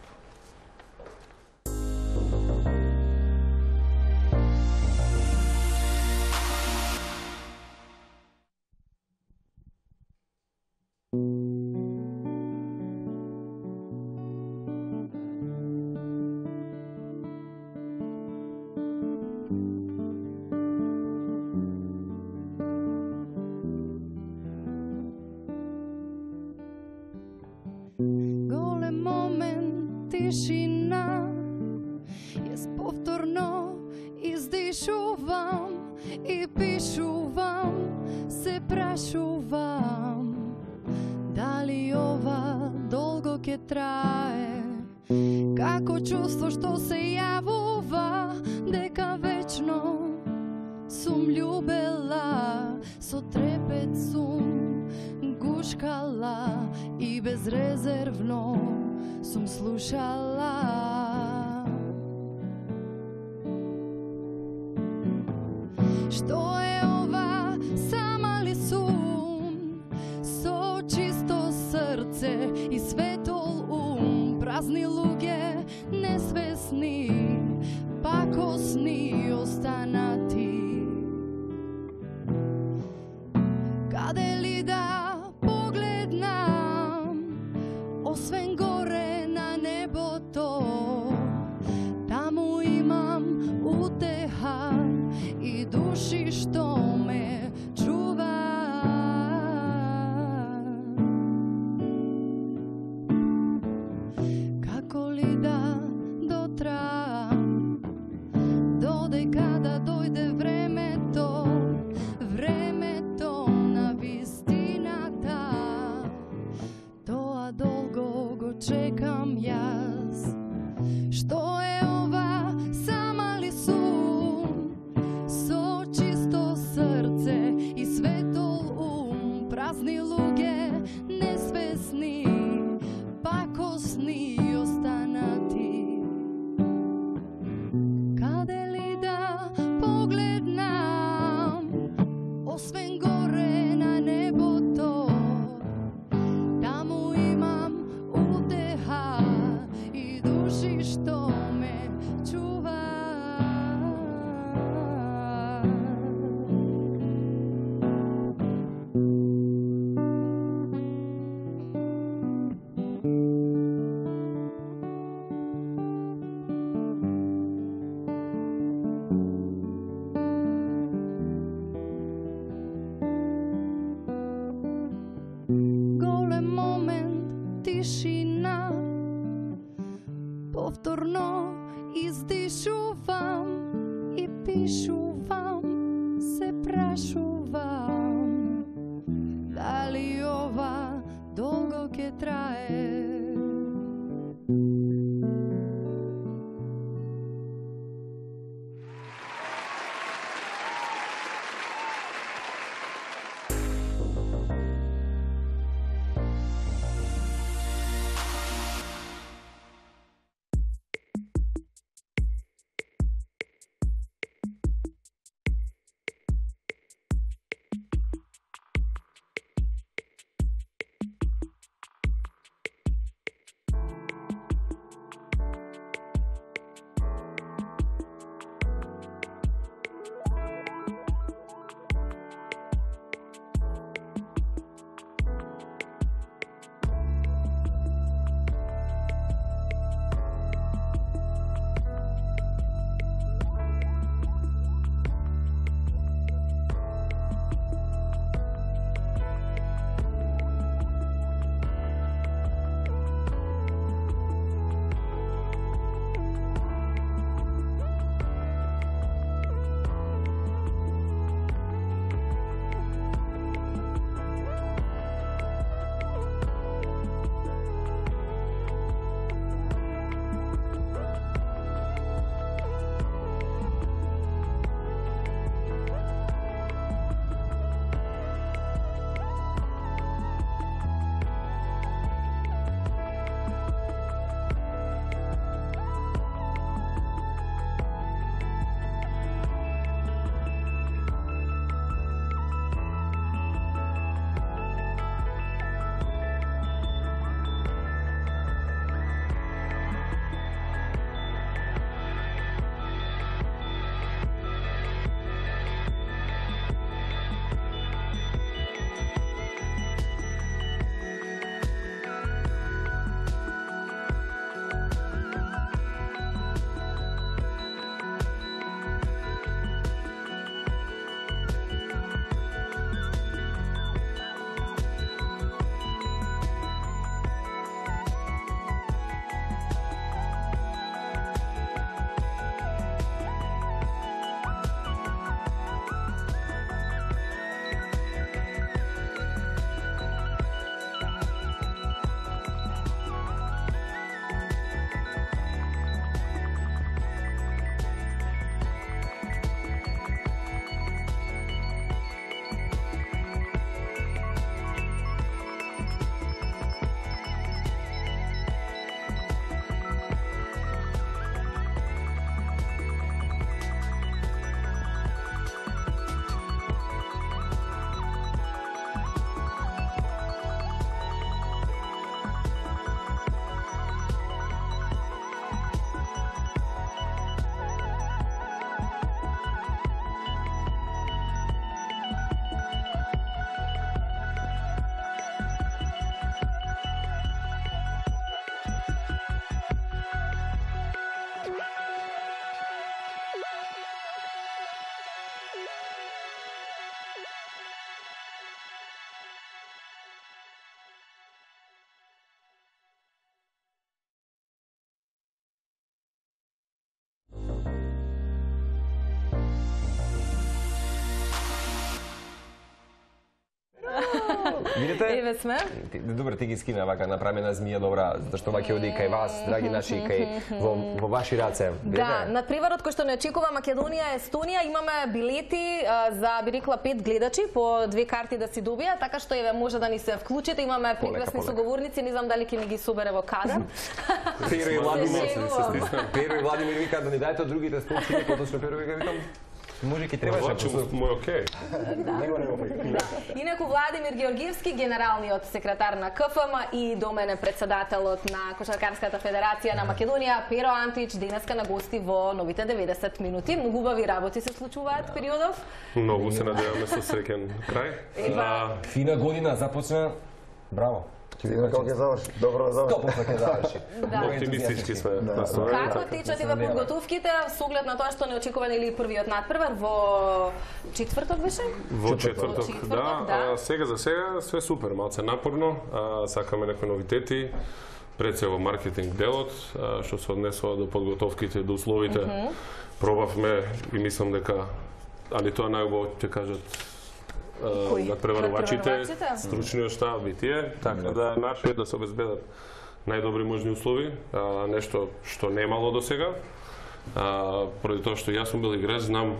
Тишина, јас повторно издишувам и пишувам, се прашувам дали ова долго ќе трае, како чувство што се јавува дека вечно сум љубела, со трепет сум гушкала и безрезервно сум слушала. Што е ова, сама ли сум, со чисто срце и светол ум, празни луѓе, несвесни, пакосни останати. Каде ли да погледнам, освен горе на небото, таму имам утеха и души што ме чува. Како ли да дотрам čekam jaz. Što je ova sama li sum, so čisto srce i svetol prazni luge, nesvesni, pakosni ostanati. Kade li da pogledam, osven gore na nebo to, tamo imam uteha i duši što me čuva. Golem moment, tišina, povtorno izdišuvam i pišuvam, se prašuvam, da li ova dolgo ke traje. Видите? Еве сме. Добро, ти ги скина вака, направи на змија добра, зашто ваќе оди кај вас, драги наши, кај во ваши раце. Да, надпреварот кој што не очекува Македонија, Естонија, имаме билети за, би рекла, 5 гледачи по 2 карти да си добија, така што еве може да ни се вклучите, имаме прекрасни соговорници, не знам дали ќе ни ги собере во кадар. Перо и Владимир вика да ни дајте од другите столчиња, поточно Перо вика викам може ки требаше. Мој окей. Инаку Владимир Георгиевски, генералниот секретар на КФМ и до мене председателот на Кошаркарската федерација на Македонија, Перо Антич, денеска на гости во новите 90 минути. Многу убави работи се случуваат периодов. Многу се надеваме со среќен крај. Фина година започна. Браво. Сигурно како ќе заврши? Добро да заврши. Стопно ќе заврши. Оптимистички сме. Како течат еве подготовките со оглед на тоа што не очекуваме или првиот надпревар во четврток беше? Во четврток, да. Сега за сега све супер, малце напорно, сакаме некои новитети. Пред се во маркетинг делот, што се однесува до подготовките, до условите. Пробавме и мислам дека, али тоа најубаво ќе кажат надпреварувачите, стручниот штаб и тие, така да нашиот да се обезбедат најдобри можни услови, нешто што немало до сега. Поради тоа што јас сум бил играч, знам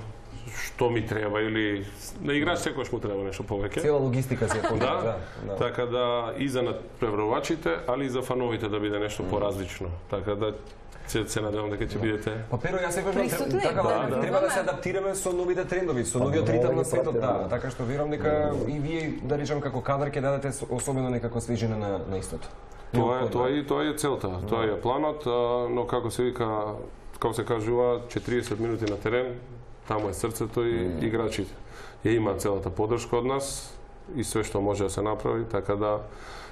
што ми треба или на играч секогаш му треба нешто повеќе. Цела логистика се да. Така да и за надпреварувачите, али и за фановите да биде нешто поразлично. Така да се надевам дека ќе бидете. Па Перо, јас секогаш треба да се адаптираме со новите трендови, со новиот ритам на светот, да. Така што верувам дека и вие, да речам, како кадар ќе дадете особено некако свежина на истото. Тоа е целта, тоа е планот, но како се вика, како се кажува, 40 минути на терен, таму е срцето и играчите. Ја има целата поддршка од нас и све што може да се направи, така да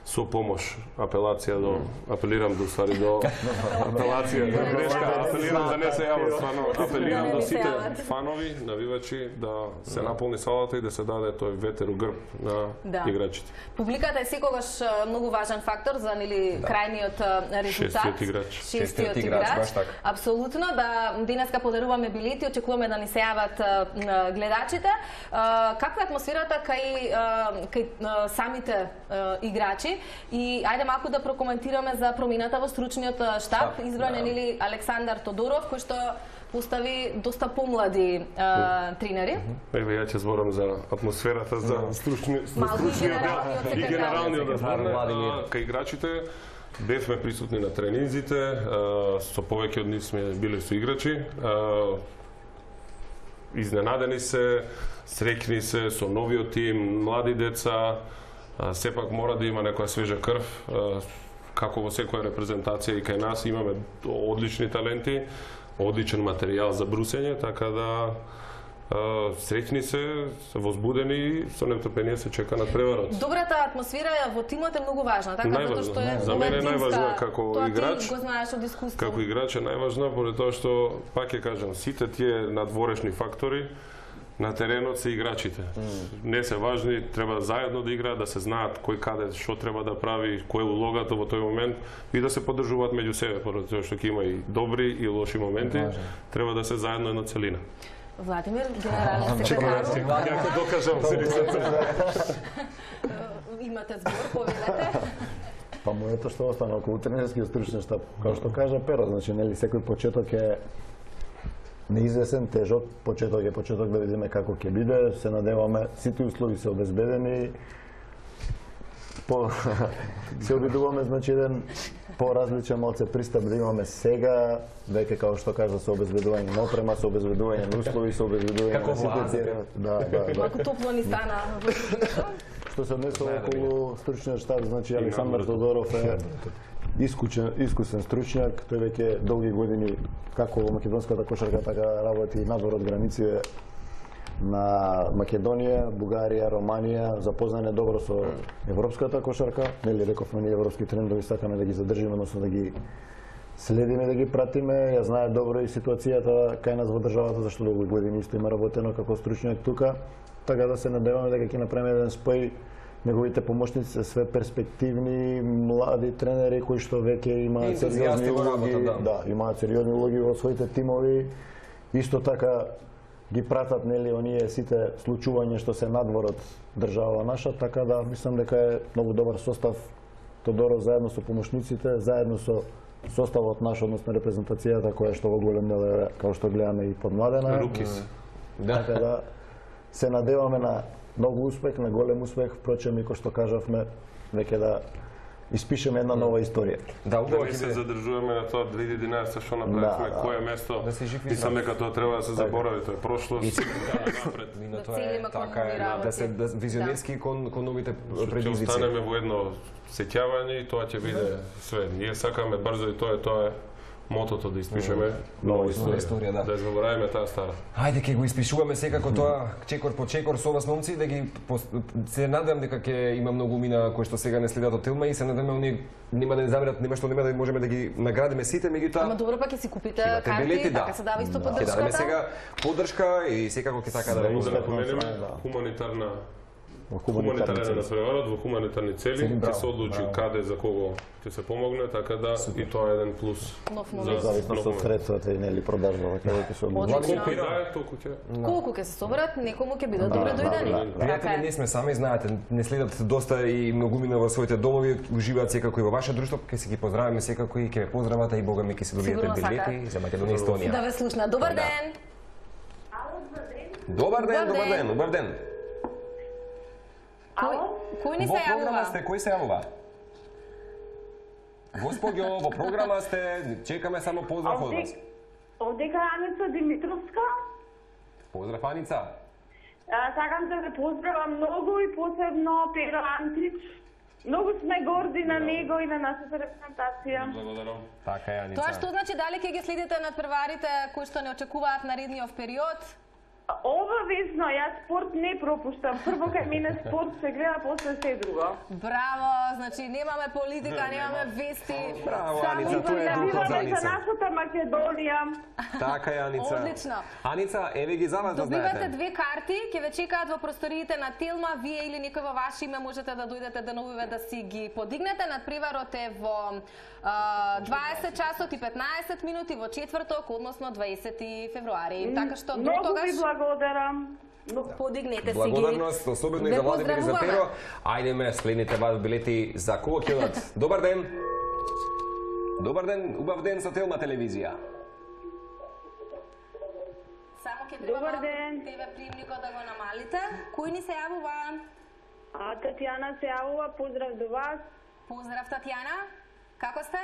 со помош, апелирам до грешка, апелирам да не се јава стварно, апелирам до сите фанови, навивачи да се наполни салата и да се даде тој ветер у грб на играчите. Публиката е секогаш многу важен фактор за крајниот резултат. Шестиот играч. Апсолутно, да денеска подаруваме билети, очекуваме да ни се јават гледачите. Каква е атмосферата кај самите играчи? И ајде малку да прокоментираме за промената во стручниот штаб, избран е нели Александар Тодоров, кој што постави доста помлади тренери. Еве ја ќе зборам за атмосферата за стручниот и генералниот одбор. Кај играчите бевме присутни на тренинзите, со повеќе од нив сме биле со играчи. Изненадени се, среќни се со новиот тим, млади деца. Сепак мора да има некоја свежа крв, како во секоја репрезентација и кај нас имаме одлични таленти, одличен материјал за брусење, така да среќни се, возбудени, со нетрпение се чека надпреварот. Добрата атмосфера во тимот е многу важна, така затоа што е за мене е најважна како играч. Го знаеш од искуство. Како играч е најважна поради тоа што пак ќе кажам, сите тие надворешни фактори на теренот се играчите. Не се важни, треба заедно да играат, да се знаат кој каде што треба да прави, кој е улогата во тој момент и да се поддржуваат меѓу себе, поради тоа што ќе има и добри и лоши моменти, треба да се заедно една целина. Владимир, генерален секретар. Ја ќе докажам седицата. Имате збор, повелете. Па моето што остана околу тренерскиот стручен штаб, како што кажа Перо, значи нели секој почеток е неизвесен, тежок, почеток да видиме како ќе биде, се надеваме, сите услови се обезбедени, се обидуваме, значи, еден поразличен малце пристап да имаме сега, веќе како што кажа, со обезбедување на опрема, со обезбедување на услови, со обезбедување на сите. Да. Малку топло ни стана. Што се однесува околу стручниот штаб, значи Александар Тодоров е искусен стручњак, тој веќе долги години како во македонската кошарка, така работи надвор од границите на Македонија, Бугарија, Романија, запознан е добро со европската кошарка, нели рековме ние европски трендови сакаме да ги задржиме, односно да ги следиме, да ги пратиме, ја знае добро и ситуацијата кај нас во државата, зашто долги години исто има работено како стручњак тука, така да се надеваме дека ќе направиме еден спој. Неговите помошници се све перспективни, млади тренери кои што веќе имаат сериозни улоги, имаат сериозни улоги во своите тимови. Исто така ги пратат нели оние сите случувања што се надвор од држава наша, така да мислам дека е многу добар состав Тодоров заедно со помошниците, заедно со составот наш, односно репрезентацијата која што во голем дел е, како што гледаме, и подмладена. Рукис. Така да се надеваме на многу успех, на голем успех, впрочем и кој што кажавме, веќе да испишеме една нова историја. Да не се задржуваме на тоа 2011 што направивме, кое место. Мислам дека тоа треба да се заборави, тоа е прошлост. Така е, да се визионерски кон новите предизвици. Ќе останеме во едно сеќавање и тоа ќе биде све. Ние сакаме брзо и тоа е мотото да испишеме нова историја, да заборавиме таа стара. Ајде ќе го испишуваме секако тоа чекор по чекор со вас момци, да ги се надевам дека ќе има многу мина кои што сега не следат од Телма и се надеваме оние нема да не заберат, нема што нема да можеме да ги наградиме сите, меѓутоа. Ама добро пак ќе си купите карти, така се дава исто поддршката. Ќе дадеме сега поддршка и секако ќе така да напоменеме хуманитарен надпреварот во хуманитарни цели, ќе се одлучи каде за кого ќе се помогне, така да и тоа е еден плюс. Зависно од средствата и нели продажбата ќе се одлучи. Колку ќе се соберат, некому ќе бидат добре дојдени. Пријатели, не сме сами, знаете, не следат доста и многумина во своите домови, уживаат секако и во ваше друштво, ќе се ги поздравиме секако и ќе ме поздравате и бога ми ќе се добиете билети за Македонија и Естонија. Да ве слушна. Добар ден. Добар ден, добар ден, добар ден. Кој ни се јавува? Во програма сте, кој се јавува? Господјо, во програма сте, чекаме само поздрав од вас. Овдека Аница Димитровска. Поздрав, Аница. Сакам да ве поздравам многу и посебно Перо Антрич. Многу сме горди на него и на нашата репрезентација. Благодарам. Така е, Аница. Тоа што значи дали ќе ги следите надпреварите кои што не очекуваат наредниот период? Обавезно, јас спорт не пропуштам. Прво кај мене спорт се гледа, после се друго. Браво, значи немаме политика, немаме вести. Браво, Аница, тоа е духот за Аница. За нашата Македонија. Така е, Аница. Одлично. Аница, еве ги за вас да знаете. Добивате 2 карти, ќе ве чекаат во просториите на Телма, вие или некој во ваше име можете да дојдете деновиве да си ги подигнете. Надпреварот е во 20 часот и 15 минути во четврток, односно 20 февруари. Така што до тогаш благодарам. Подигнете си ги. Благодарност, особено и за Владимир и за Перо. Ајдеме, следните вас билети за кого ќе одат. Добар ден. Добар ден, убав ден со Телма телевизија. Само ќе треба тебе приемникот да го намалите. Кој ни се јавува? Татјана се јавува, поздрав до вас. Поздрав, Татјана. Како сте?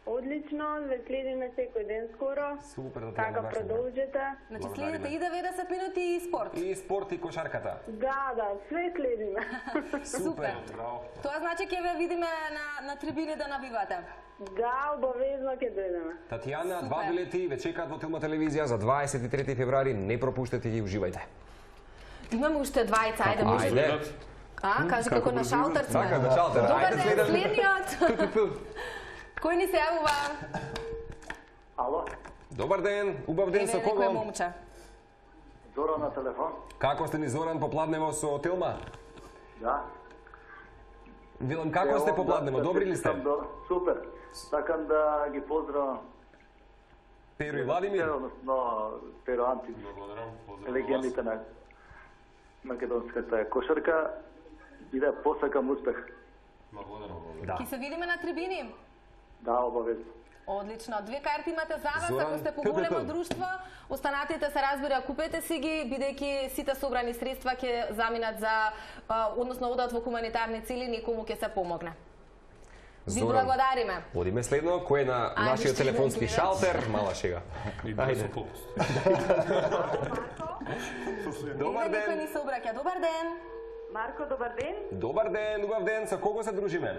Одлично, ве следиме секој ден скоро. Супер, да така продолжете. Значи следите и 90 минути и спорт. И спорт и кошарката. Да, све следиме. Супер. Тоа значи ќе ве видиме на трибини да навивате. Да, обавезно ќе дојдеме. Татјана, 2 билети ве чекаат во Телма телевизија за 23 февруари, не пропуштете ги, уживајте. Имаме уште двајца, ајде може. Кажи како на шалтер сме. Така, на шалтер. Добар ден, следниот. Кој ни се јавува? Ало? Добар ден, убав ден со кого? Некој момче. Зоран на телефон. Како сте ни, Зоран, попладнево со Телма? Да. Вилам, како сте попладнево, добри ли сте? Супер. Сакам да ги поздравам Перо и Владимир? Односно, Перо Антич. Легендите на македонската кошарка и да посакам успех. Ки се видиме на трибини? Да, обавезно. Одлично. 2 карти имате за вас, ако сте по големо друштво. Останатите се разбира, купете си ги, бидејќи сите собрани средства ќе заминат за, односно одат во хуманитарни цели, некому ќе се помогне. Ви благодариме. Одиме следно, кој е на нашиот телефонски шалтер, мала шега. Ајде. Добар ден. Некој ни се обраќа. Добар ден. Марко, добар ден. Добар ден, убав ден. Со кого се дружиме?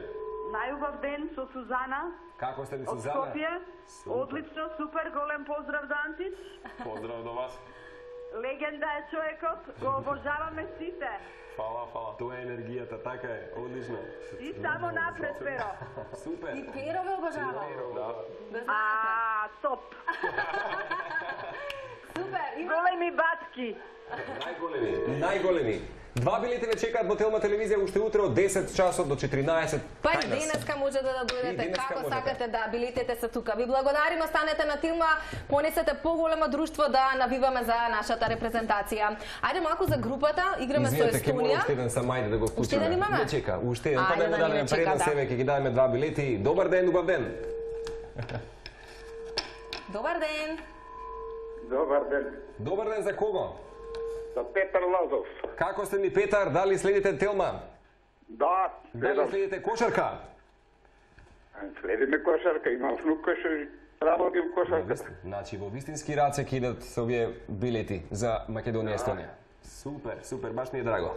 Најубав ден со Сузана. Како сте, Сузана? Од Скопје. Одлично, супер, голем поздрав до Антич. Поздрав до вас. Легенда е човекот, го обожаваме сите. Фала. Тоа е енергијата, така е, одлично. И само напред, Перо. Супер. И Перо ве обожава. Да. Топ. Супер. Големи батки. Најголеми. 2 билети ве чекаат во Телма телевизија уште утре од 10 часот до 14. Па и денеска може да дојдете како сакате, да, билетите се тука. Ви благодариме, останете на Телма, понесете поголемо друштво да навиваме за нашата репрезентација. Ајде малку за групата, играме со Естонија. Уште еден сам, ајде да го вклучиме. Уште еден имаме? Не чека, уште еден, па да му дадеме предност, себе ќе ги дадеме 2 билети. Добар ден, убав ден. Добар ден. Добар ден. Добар ден, за кого? За Петар Лазов. Како сте ни, Петар? Дали следите Телма? Да. Дали следите кошарка? Следиме кошарка, имам внука што работи во кошарка. Значи, во вистински раце ќе идат со овие билети за Македонија и Естонија. Супер, супер, баш ми е драго.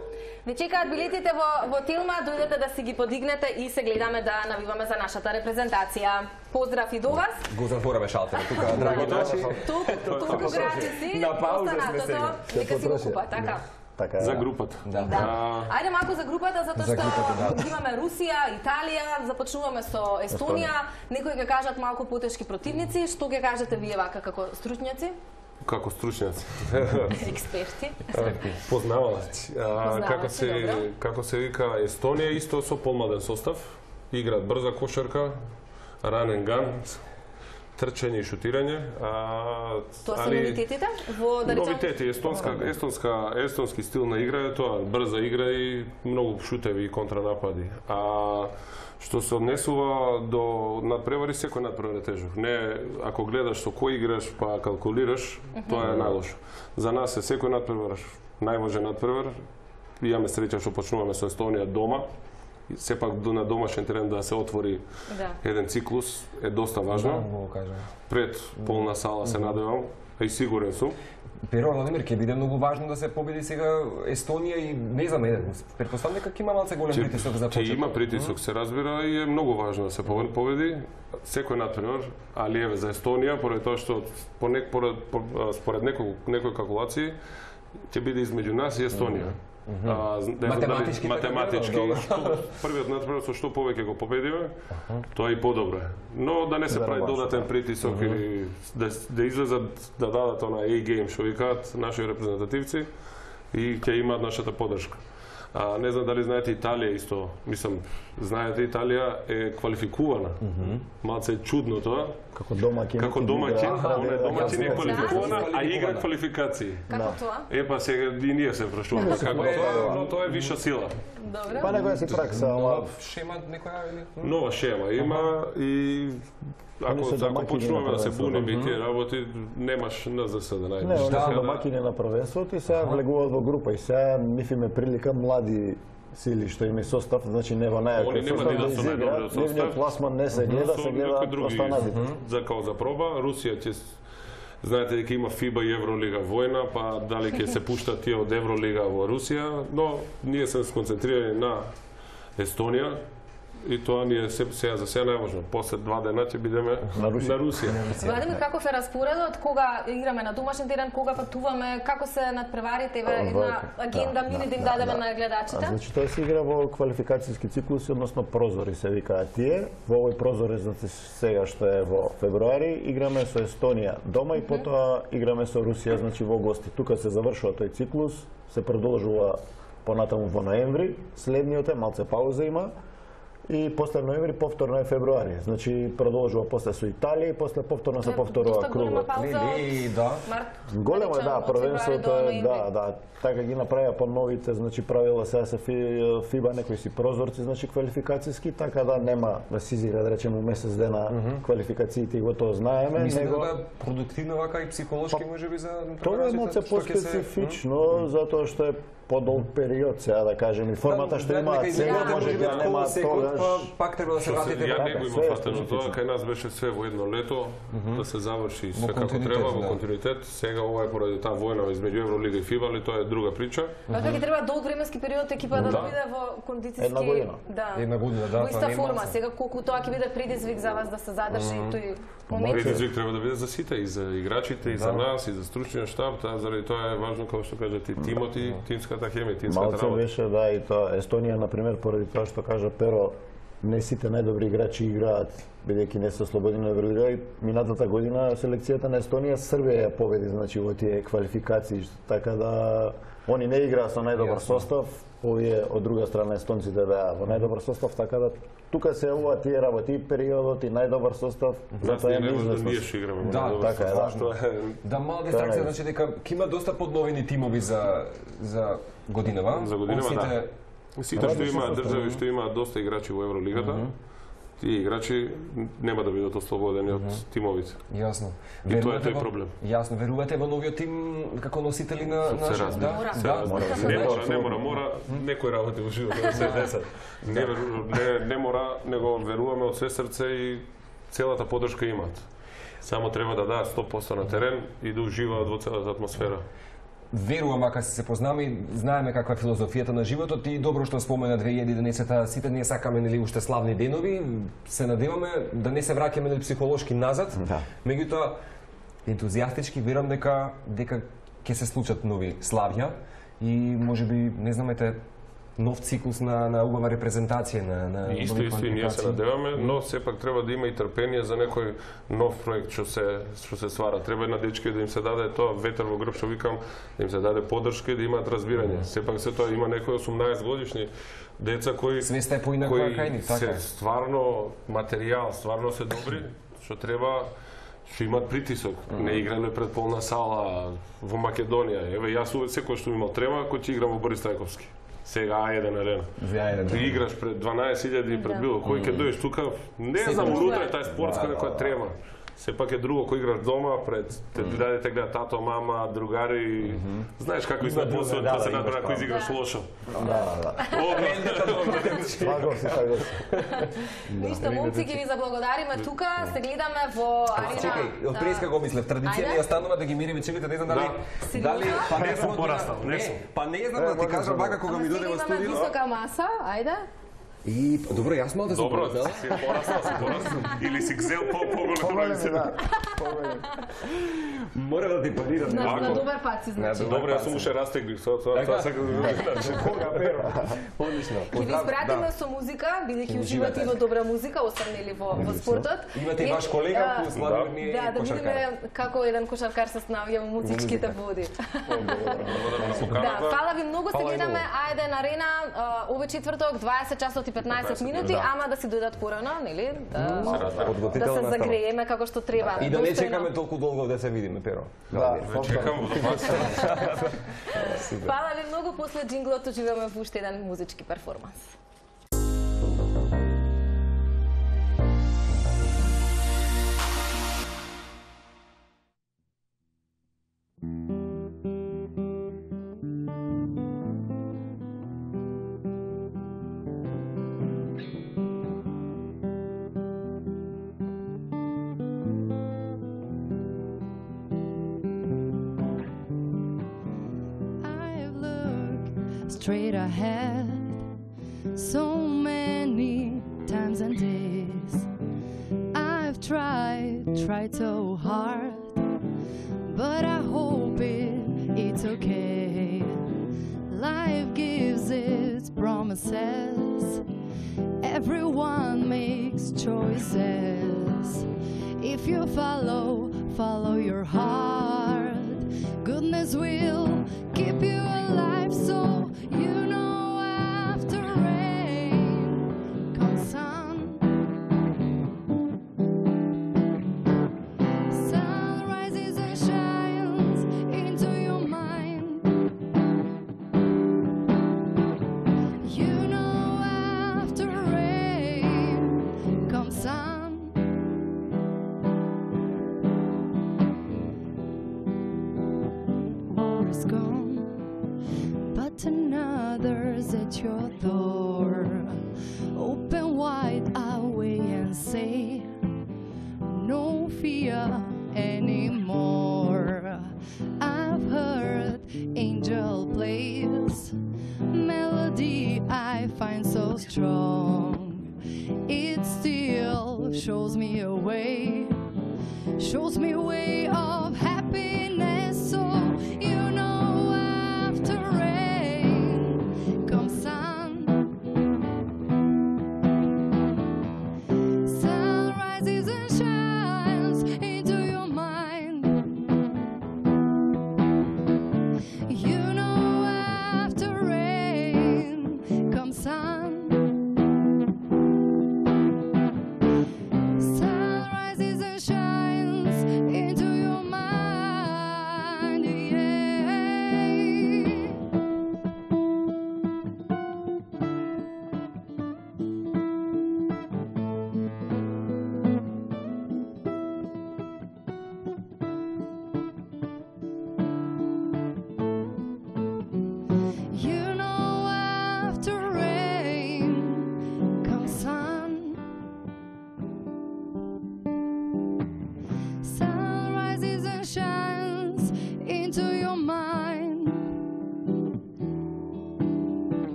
Ви чекаат билетите во Телма, дојдете да си ги подигнете и се гледаме да навиваме за нашата репрезентација. Поздрав и до вас. Го затвораме шалтерот тука, драги наши. Туку граѓани на пауза сме сега. Нека си го купат, така. За групата. Да. Ајде малку за групата, затоа што имаме Русија, Италија, започнуваме со Естонија. Некои ќе кажат малку потешки противници, што ќе кажете вие вака како стручњаци? Како стручњаци. Експерти. Познавалаци. Како се вика, Естонија исто со помладен состав. Играат брза кошарка, ранен ган, трчање и шутирање. Тоа се новитетите? Новитети, естонски стил на игра е тоа, брза игра и многу шутеви и контранапади. Што се однесува до надпревари, секој надпревар е тежок. Не, ако гледаш со кој играш па калкулираш, тоа е најлошо. За нас е секој надпревар најважен надпревар. Имаме среќа што почнуваме со Естонија дома. Сепак на домашен терен да се отвори еден циклус е доста важно. Пред полна сала се надевам, и сигурен сум. Перо, Владимир, ќе биде многу важно да се победи сега Естонија и не знам, претпоставам дека ќе има малце голем притисок за почеток. Ќе има притисок, се разбира, и е многу важно да се победи. Секој надпревар, али еве за Естонија, поради тоа што според некои калкулации ќе биде измеѓу нас и Естонија. Математички, првиот надпревар со што повеќе го победиме, тоа и подобро е. Но да не се прави додатен притисок или да излезат да дадат она A-game што викаат наши репрезентативци и ќе имаат нашата поддршка. Не знам дали знаете, Италија исто, мислам, знаете, Италија е квалификувана. Малце е чудно тоа. Како домаќин, она домаќин е квалификувана, а игра квалификации. Како тоа? Па сега и ние се прашуваме како тоа, но тоа е виша сила. Добре. Па некоја си пракса, нова шема некоја или? Нова шема има и ако почнуваме да се буниме и тие работи, немаш НЗС да најдеш. Не, они се домаќини на првенството и сега влегуваат во група и сега нив им е прилика млади сили што има состав, значи не во најако состав да изиграат, нивниот пласман не се гледа, се гледа останатите. За проба, Русија ќе знаете дека има ФИБА и Евролига војна, па дали ќе се пуштат тие од Евролига во Русија, но ние се сконцентрирани на Естонија. И тоа ни е сега за сега најважно. После 2 дена ќе бидеме на Русија. Владимир, каков е распоредот? Кога играме на домашен терен, кога патуваме, како се надпреварите, една агенда мини да им дадеме на гледачите? Значи тоа се игра во квалификацијски циклуси, односно прозори се викаат тие. Во овој прозор, значи сега што е во февруари, играме со Естонија дома и потоа играме со Русија, значи во гости. Тука се завршува тој циклус, се продолжува понатаму во ноември, следниот е малце пауза има. И после ноември повторно е февруари. Значи продолжува после со Италија и после повторно се повторува кругот. Голема да, првенството е да, така ги направија по новите, значи правила сега се ФИБА некои си прозорци, значи квалификацијски, така да нема да се изигра да речеме месец дена квалификациите и го тоа знаеме, него да продуктивно вака и психолошки можеби за тоа е малце поспецифично затоа што е подолг период, сега да кажем, и формата што имаат сега може да нема тогаш. Пак треба да се вратите. Ја него има фатено тоа, кај нас беше све во едно лето, да се заврши све како треба во континуитет. Сега ова е поради таа војна измеѓу Евролига и ФИБА, али тоа е друга прича. Така ќе треба долг временски период екипа да биде во кондицијски една година, да, во иста форма. Сега колку тоа ќе биде предизвик за вас да се задржи тој момент. Предизвик треба да биде за сите, и за играчите, и за нас, и за стручниот штаб, заради тоа е важно како што кажат и тимот и тимската хемија, тимската работа. Малце беше и тоа Естонија на пример поради тоа што кажа Перо не сите најдобри играчи играат, бидејќи не се ослободени на Евролига. Минатата година селекцијата на Естонија Србија ја победи, значи во тие квалификации, така да они не играа со најдобар состав, овие од друга страна естонците беа во најдобар состав, така да тука се ова тие работи, периодот и најдобар состав, затоа е неизвестно. Ние што играме да, така е, да, мала дистракција, значи дека ќе има доста подновени тимови за годинава. За годинава, да. Сите што имаат држави што имаат доста играчи во Евролигата, тие играчи нема да бидат ослободени од тимовите. Јасно. И тоа е тој проблем. Јасно, верувате во новиот тим како носители на нашиот, Не мора некој работи во животот се десат. Не мора, него веруваме од се срце и целата поддршка имаат. Само треба да дадат 100% на терен и да уживаат во целата атмосфера. Верувам, ако се познаме и знаеме каква е филозофијата на животот и добро што спомена 2011-та, сите ние сакаме нели уште славни денови, се надеваме да не се враќаме нели психолошки назад. Меѓутоа ентузијастички верувам дека ќе се случат нови славја и можеби не знамете нов циклус на убава репрезентација на Исто и ние се надеваме, но сепак треба да има и трпение за некој нов проект што се ствара. Треба на дечки да им се даде тоа ветер во грб, што викам, да им се даде поддршка и да имаат разбирање. Сепак се тоа има некои 18 годишни деца кои свеста е поинаква кај нив, така. Се стварно материјал, стварно се добри, што треба што имаат притисок. Не играле пред полна сала во Македонија. Еве јас секој што имал трема кој ќе играм во Борис Трајковски. Сега А1 арена. Ти играш пред 12.000 пред било кој ќе дојдеш тука, не знам унутре тај спортска некоја трема. Сепак е друго кој играш дома пред те гледа тато, мама, другари. Знаеш како изгледа после тоа се набра кој изиграш лошо. Да. Ништо, момци, ќе ви заблагодариме тука, се гледаме во арена. Чекај, од преска го мислев, традиција ја станува да ги мириме чеките, не знам дали па не сум порастал, не сум. Па не знам да ти кажам вака кога ми дојде во студио. Имаме висока маса, ајде. И добро, јас мал да се порастал. Си порастал. Или си гзел по-голем се. Мора да ти парирам. На добар пат си, значи. Добро, јас сум уште растеглив. Тоа сакам да видам. Кога перо? Одлично. Ќе ви испратиме со музика, бидејќи уживате и во добра музика, останели во спортот. Имате и ваш колега кој слави ние да видиме како еден кошаркар се снаоѓа во музичките води. Да, фала ви многу, се гледаме А1 арена овој четврток 20 часот и 15 минути, ама да си дојдат порано, нели? Да се загрееме како што треба. И да не чекаме толку долго да се видиме, Перо. Да, чекам. Фала ви многу, после джинглот уживаме во уште еден музички перформанс. Straight ahead so many times and days. I've tried so hard, but I hope it's okay. Life gives its promises, everyone makes choices. If you follow your heart, goodness will keep you alive. So you know after rain comes sun. Sun rises and shines into your mind. You know after rain comes sun. War is gone, but another's at your door. Open wide away and say, no fear anymore. I've heard angel plays, melody I find so strong. It still shows me a way of happiness. So you know after rain comes sun.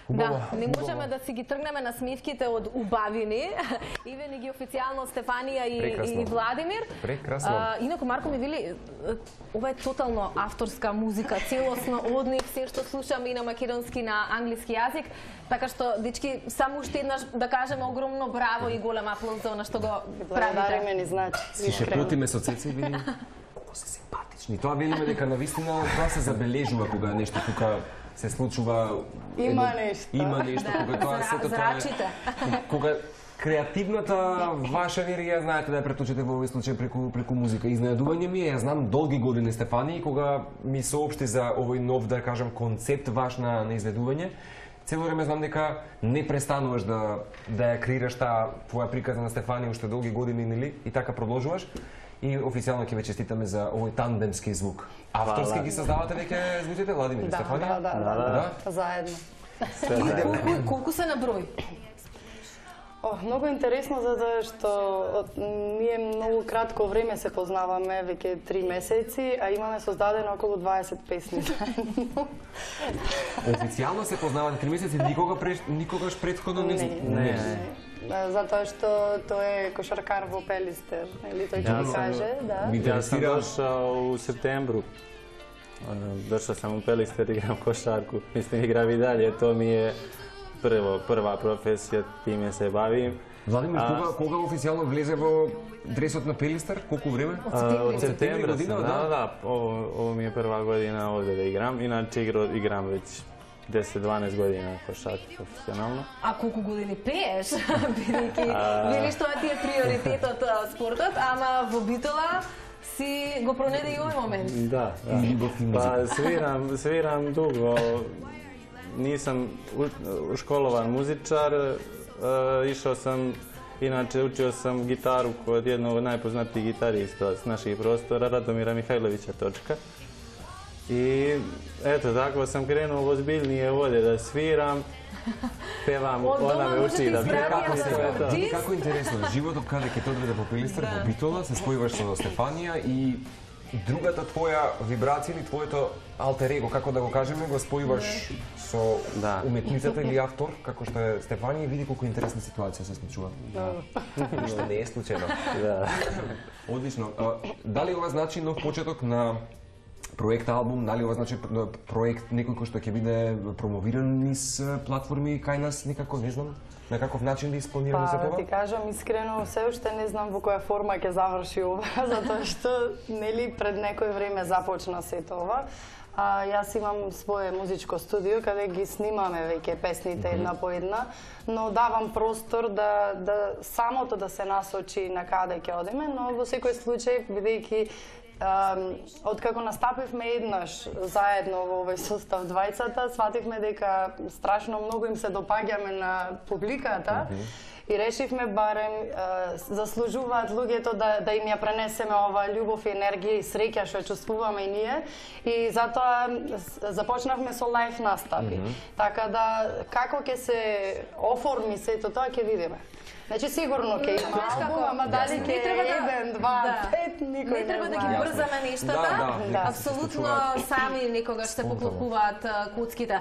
Да, не можеме да си ги тргнеме на смевките од убавини. Ивени ги официјално Стефанија и Владимир. Прекрасно. Инаку Марко ми вели, ова е тотално авторска музика, целосно од нив, се што слушаме и на македонски, на англиски јазик. Така што, дечки, само уште еднаш да кажеме огромно браво и голем аплауз за она што го правите. Благодариме ни, значи. Си шепотиме со Цеца и видиме колку се симпатични. Тоа велиме дека навистина тоа се забележува кога нешто тука се случува. Има нешто. Има нешто кога тоа сето тоа е. Кога креативната ваша енергија знаете да ја преточите во овој случај преку музика. Изненадување ми е, ја знам долги години Стефани, кога ми соопшти за овој нов, да кажам, концепт ваш на изведување. Цело време знам дека не престануваш да ја креираш таа твоја приказна на Стефани уште долги години, нели? И така продолжуваш. И официјално ќе ве честитаме за овој тандемски звук. Авторски ги создавате веќе звуците, Владимир и Стефанија? Да. Заедно. Колку се на број? Многу интересно, затоа што ние многу кратко време се познаваме, веќе 3 месеци, а имаме создадено околу 20 песни заедно. Официјално се познавате 3 месеци, никогаш претходно не. Затоа што тој е кошаркар во Пелистер, или тој ќе ми каже, да. Јас сам дошao у септембру. Дошao сам у Пелистер, играм кошарку. Мислим, играм и далje, то ми е прва професија, тиме се бавим. Владимир, кога официјално влезе во дресот на Пелистер? Колку време? Од септември година, да. Ово ми е прва година овде да играм, иначе играм веќе 10-12 година кошарки професионално. А колку години пееш? Бидејќи велиш тоа ти е приоритетот спортот, ама во Битола си го пронеде и овој момент. Да. Па свирам дуго. Нисам школован музичар, išao sam, inače učio sam gitaru kod jednog od najpoznatijih gitarista s naših prostora, Radomira Mihajlovića Točka. I eto, tako sam krenuo ozbiljnije ovdje da sviram, pevam, ona me uči da pevam. Како интересно, животот каде ќе те одведе по Пелистер, во Битола, се спојуваш со Стефанија и другата твоја вибрација или твоето алтер его, како да го кажеме, го спојуваш со уметницата или автор, како што е Стефанија, и види колку интересна ситуација се случува. Што не е случајно. Одлично. Дали ова значи нов почеток на проект албум, дали ова значи проект некој кој што ќе биде промовиран низ платформи кај нас, некако не знам? На каков начин да испланираме за това? Ти кажам искрено, се уште не знам во која форма ќе заврши ова, затоа што нели пред некој време започна сето ова. Јас имам свое музичко студио каде ги снимаме веќе песните една по една, но давам простор да самото да се насочи на каде ќе одиме, но во секој случај бидејќи откако настапивме еднаш заедно во овој состав двајцата, свативме дека страшно многу им се допаѓаме на публиката и решивме барем заслужуваат луѓето да им ја пренесеме оваа љубов и енергија и среќа што чувствуваме и ние, и затоа започнавме со лајф настапи. Така да како ќе се оформи сето тоа ќе видиме. Значи сигурно ќе има албум, ама дали ќе е 1, 2, 5, никој не треба да ги брзаме нештата. Апсолутно сами некогаш се поклопуваат коцките.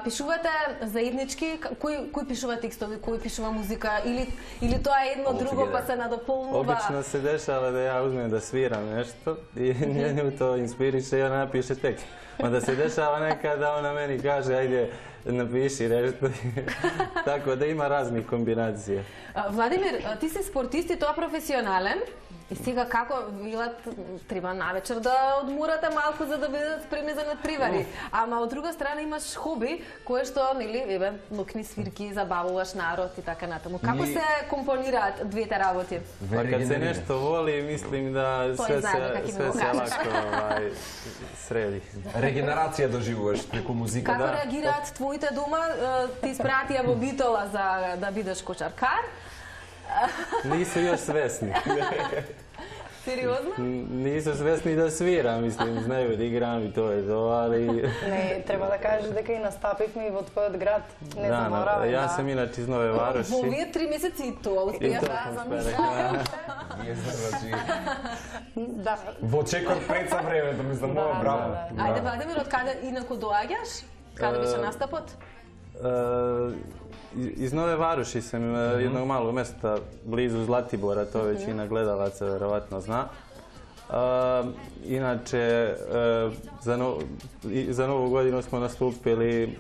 Пишувате заеднички, кој пишува текстови, кој пишува музика, или тоа е едно друго па се надополнува? Обично се дешава да ја узмем да свирам нешто и нју тоа инспирише и она напише текст. Ма да се дешава некада она мени каже ајде напиши нешто. Така да има разни комбинации. Владимир, ти си спортист и тоа професионален. И сега како велат треба навечер да одморате малку за да бидат спремни за надпревари. Ама од друга страна имаш хоби кое што нели нокни свирки, забавуваш народ и така натаму. Како се компонираат двете работи? Па кад се нешто воли, мислим да се лако среди. Регенерација доживуваш преку музика. Како реагираат твоите дома? Ти испратија во Битола за да бидеш кошаркар? Нису још свесни. Сериозно? Нису свесни да свирам, мислим, знаеме да играм и тоа е тоа, али... Не, треба да кажеш дека и настапивме и во твојот град, не заборавам. Да, јас сум иначе из Нове Вароши. Во овие 3 месеци и тоа успеа да замислам. Да. Во чекор пред са времето, мислам, браво. Ајде, Владимир, од каде инаку доаѓаш? Каде беше настапот? Iz Nove Varoši sam, jednog malog mesta blizu Zlatibora, to većina gledalaca verovatno zna. Inače, za Novu godinu smo nastupili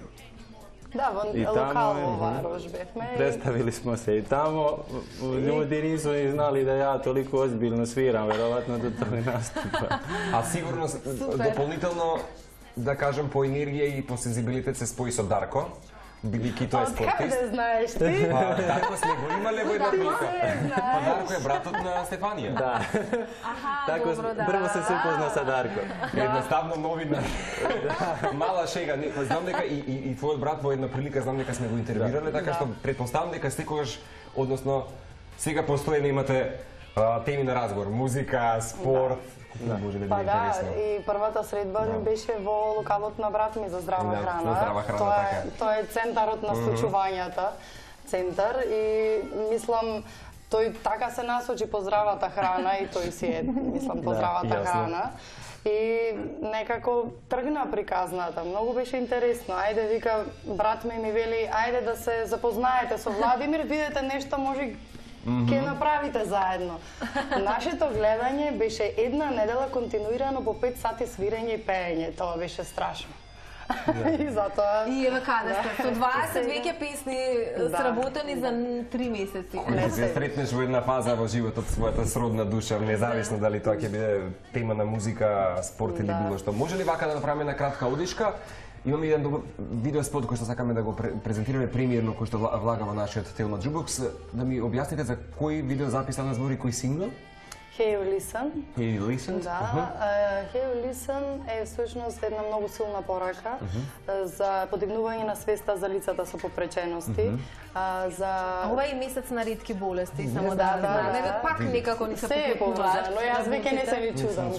Da, lokalno Varoš befme. Predstavili smo se i tamo. Ljudi nisu ni znali da ja toliko ozbiljno sviram, verovatno do toga nastupa. A сигурно дополнително, да кажем, по енергија и по сензибилитет се спои со Дарко, бидејќи тој е спортист. Откаде знаеш ти? Дарко сме го имале во една прилика. Дарко е братот на Стефанија. Да. Така, прво се упозна со Дарко. Едноставно новина. Мала шега. Знам дека и твојот брат во една прилика, знам дека сме го интервјуирале, така што претпоставам дека секогаш, односно, сега постојано имате теми на разговор, музика, спорт. Па да, и првата средба беше во локалот на брат ми за здрава храна. Тоа е центарот на случувањата, центар, и мислам, тој така се насочи по здравата храна и тој си е, мислам, по здравата храна. И некако тргна приказната, многу беше интересно. Ајде, вика, брат ми вели, ајде да се запознаете со Владимир, видете нешто, може ќе направите заедно. Нашето гледање беше една недела континуирано по 5 сати свирење и пеење. Тоа беше страшно. И затоа... И еве каде сте? Со 20 веќе песни сработени за 3 месеци. Ако се сретнеш во една фаза во животот својата сродна душа, независно дали тоа ќе биде тема на музика, спорт или било што. Може ли вака да направиме една кратка одишка? Имаме еден добар видеоспот кој што сакаме да го презентираме премиерно, кој што влага во нашиот Телма Jukebox. Да ми објасните за кој видеозапис на збори, кој сингл? Hey You Listen. Hey You Listen? Да, Hey You Listen е всушност една многу силна порака за подигнување на свеста за лицата со попречености. Ова е месец на ретки болести, само да знаме. Пак некако ни се поклопуваат. Но јас веќе не се ви чудам.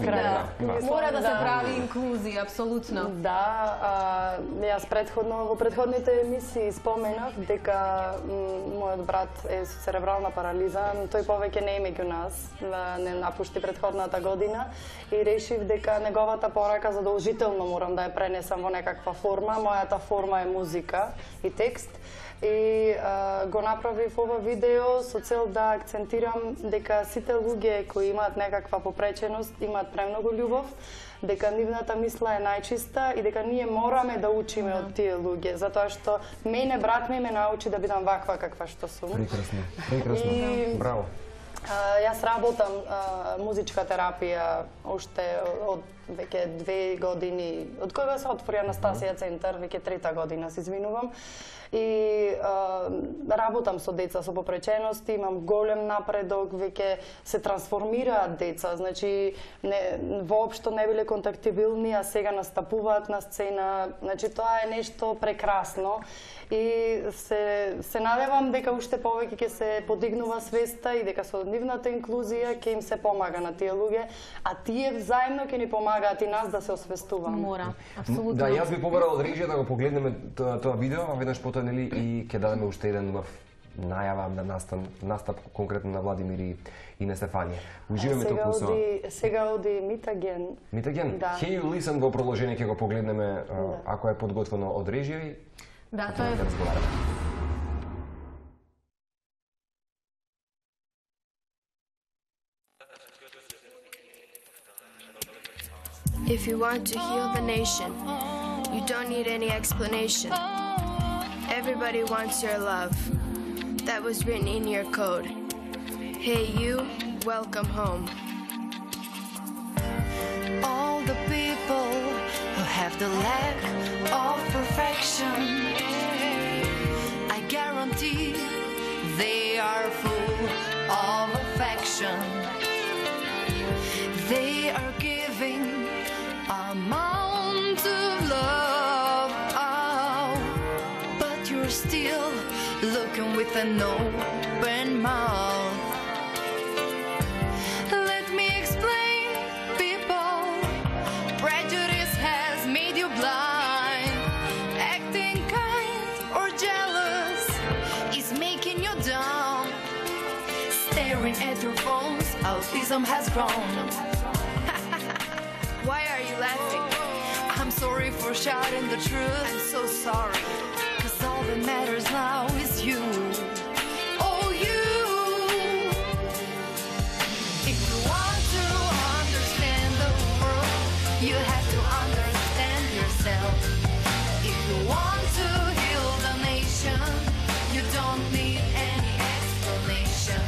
Мора да се прави инклузија, апсолутно. Да, јас во предходните емисии споменав дека мојот брат е со церебрална парализа, тој повеќе не е меѓу нас, не напушти предходната година и решив дека неговата порака задолжително морам да ја пренесам во некаква форма. Мојата форма е музика и текст. И го направив ова видео со цел да акцентирам дека сите луѓе кои имаат некаква попреченост имаат премногу љубов, дека нивната мисла е најчиста и дека ние мораме да учиме од тие луѓе, затоа што мене брат ми ме научи да бидам ваква каква што сум. Прекрасно, прекрасно. Браво. Јас работам музичка терапија уште од веќе 2 години, од кога се отвори Анастасија центар, веќе 3-та година, се извинувам. И работам со деца со попречености, имам голем напредок, веќе се трансформираат деца, значи воопшто не биле контактибилни, а сега настапуваат на сцена, значи тоа е нешто прекрасно. И се надевам дека уште повеќе ќе се подигнува свеста и дека со нивната инклузија ќе им се помага на тие луѓе, а тие взаимно ќе ни помагаат и нас да се освестуваме. Мора, апсолутно. Да, јас би побарал од режија да го погледнеме тоа видео, а веднаш потоа нели и ќе дадеме уште еден најава на настап конкретно на Владимир и на Стефанија. Уживаме толку со... Сега оди Meet Again. Meet Again? Hey You Listen во продолжение ќе го погледнеме ако е подготвено од режија. Да, тоа е. If you want to heal the nation, you don't need any explanation. Everybody wants your love. That was written in your code. Hey you, welcome home. All the people who have the lack of perfection, I guarantee they are full of affection. They are giving amount of love, but you're still looking with an open mouth. Let me explain, people. Prejudice has made you blind. Acting kind or jealous is making you dumb. Staring at your phones, autism has grown. Why are you laughing? I'm sorry for shouting the truth. I'm so sorry. 'Cause all that matters now is you. Oh, you. If you want to understand the world, you have to understand yourself. If you want to heal the nation, you don't need any explanation.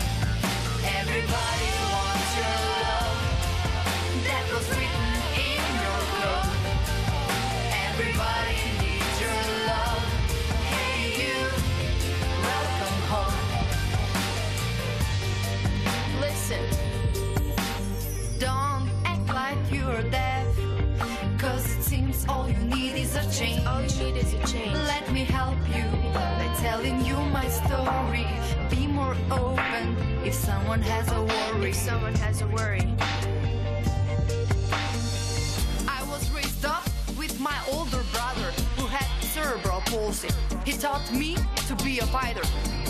Everybody wants your love. That was written in your code. Everybody needs your love. Hey you, welcome home. Listen, don't act like you're deaf, 'cause it seems all you need is a change. All you need is a change. Let me help you by telling you my story. Be more open if someone has a worry. If someone has a worry. I was raised up with my older brother who had cerebral palsy. He taught me to be a fighter,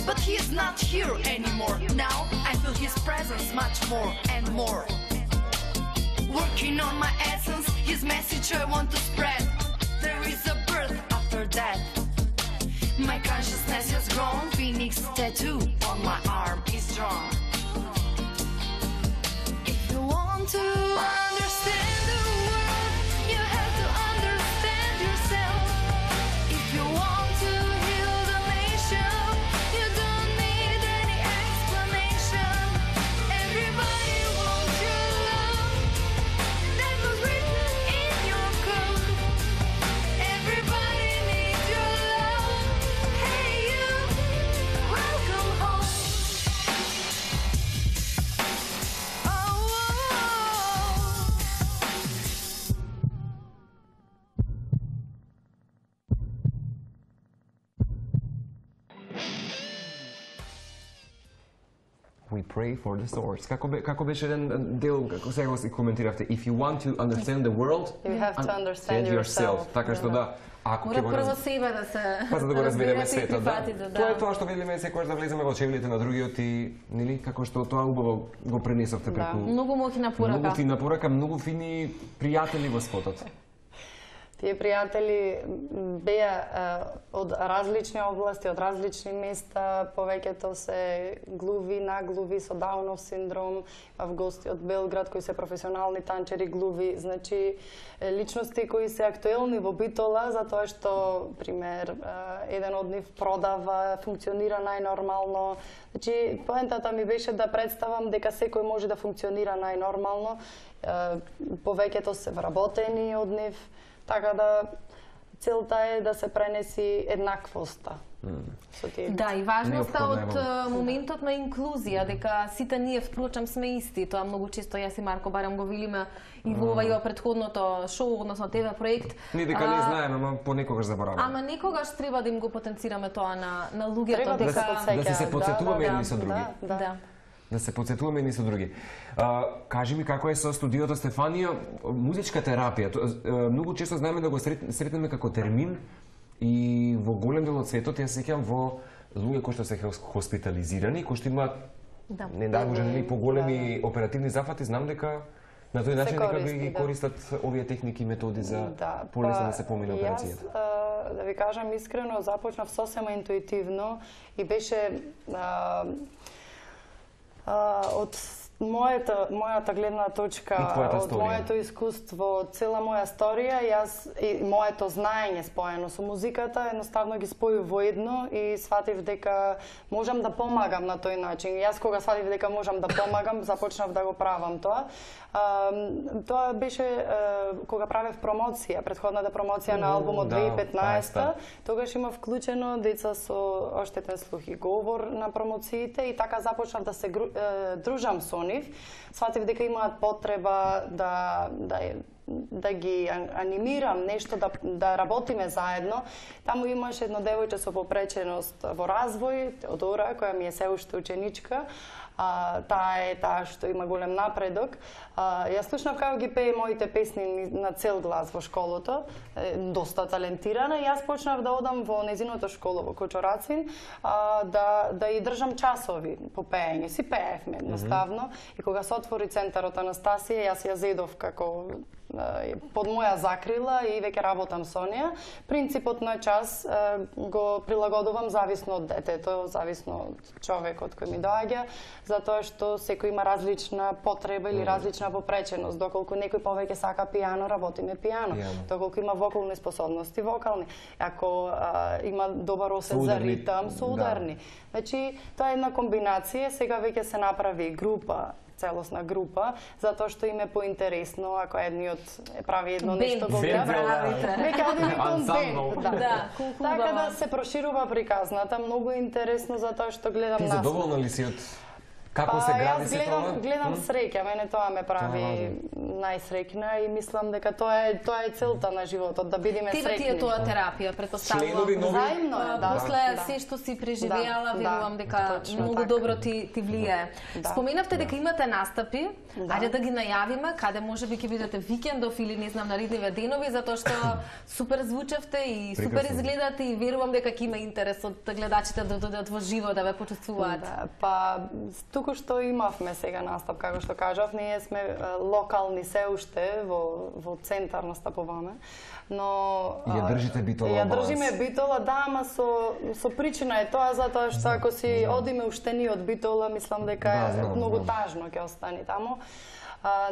but he is not here anymore. Now I feel his presence much more and more. Working on my essence, his message I want to spread. There is a birth after death. My consciousness has grown. Phoenix tattoo on my arm is drawn. If you want to understand the world, you have to understand yourself. If you want to heal the nation, you don't need any explanation. Everybody wants your love. That was written in your code. Everybody needs your love. Hey you, welcome home. We pray for the source. Како беше еден дел, како сега го коментиравте, if you want to understand the world, You have to understand yourself. Така што да, ако ќе Мора прво себе да се па за да го разбереме светот, да. прифатите, Тоа е тоа што видиме секогаш да влеземе во чевлите на другиот и нели како што тоа убаво го пренесовте преку. Многу моќна порака. Многу фина порака, многу фини пријатели во спотот. Тие пријатели беа од различни области, од различни места, повеќето се глуви, наглуви со Даунов синдром, в гости од Белград кои се професионални танчери глуви, значи личности кои се актуелни во Битола затоа што пример еден од нив продава, функционира најнормално. Значи поентата ми беше да представам дека секој може да функционира најнормално, повеќето се вработени од нив. Така да целта е да се пренеси еднаквоста. Да, и важноста од моментот на инклузија, дека сите ние впрочем сме исти. Тоа многу често јас и Марко барем го велиме и во ова претходното шоу, односно ТВ проект. Ние дека не знаеме, ама понекогаш забораваме. Ама некогаш треба да им го потенцираме тоа на луѓето, дека да се потсетуваме едни со други. Да. Да се потсетуваме едни со други. Кажи ми како е со студиото Стефанија, музичка терапија. Многу често знаеме да го сретнеме како термин и во голем дел од светот ја сеќавам во луѓе кои што се хоспитализирани, кои што имаат не дай може нели поголеми оперативни зафати, знам дека на тој начин дека ги користат овие техники и методи за полесно да се помине операцијата. Јас, да ви кажам искрено, започнав сосема интуитивно и беше од мојата гледна точка, од моето искуство, цела моја сторија, јас и моето знаење споено со музиката, едноставно ги споју во едно и сватив дека можам да помагам на тој начин. Јас кога сватив дека можам да помагам, започнав да го правам тоа. Тоа беше кога правев промоција, претходната промоција на албумот 2015-та, тогаш има вклучено деца со оштетен слух и говор на промоциите и така започнав да се дружам со нив. Сватив дека имаат потреба да ги анимирам, нешто да работиме заедно. Таму имаше едно девојче со попреченост во развој, Теодора, која ми е се уште ученичка. Таа што има голем напредок. Јас слушнав како ги пее моите песни на цел глас во школото, доста талентирана, и јас почнав да одам во незиното школо во Кочорацин, да ја држам часови по пеење. Си пеевме едноставно и кога се отвори центарот Анастасија, јас ја зедов како под моја закрила и веќе работам со неа. Принципот на час го прилагодувам зависно од детето, зависно од човекот кој ми доаѓа, затоа што секој има различна потреба или различна попреченост. Доколку некој повеќе сака пијано, работиме пијано. Доколку има вокални способности, вокални. Ако има добар осет за ритам, со ударни. Значи, тоа е една комбинација, сега веќе се направи група, целосна група, затоа што им е поинтересно, ако едниот прави едно нешто го гледа. Веќе одиме кон бенд. Така да се проширува приказната, многу е интересно затоа што гледам Ти задоволна ли си од како се гради се тоа? Јас гледам среќа, мене тоа ме прави најсреќна и мислам дека тоа е целта на животот, да бидеме среќни. Ти е тоа терапија, претпоставувам. Заедно е, да. После се што си преживеала, верувам дека многу добро ти влијае. Споменавте дека имате настапи, ајде да ги најавиме, каде можеби ќе бидете викендов или не знам наредниве денови, затоа што супер звучевте и супер изгледате и верувам дека ќе има интерес од гледачите да додат во живо да ве почувствуваат. Па туку што имавме сега настап, како што кажав, ние сме локални се уште во центар настапуваме, но ја држите Битола. Ја држиме Битола, да, ама со причина е тоа, затоа што ако си одиме уштени од Битола, мислам дека е многу тажно ќе остане таму.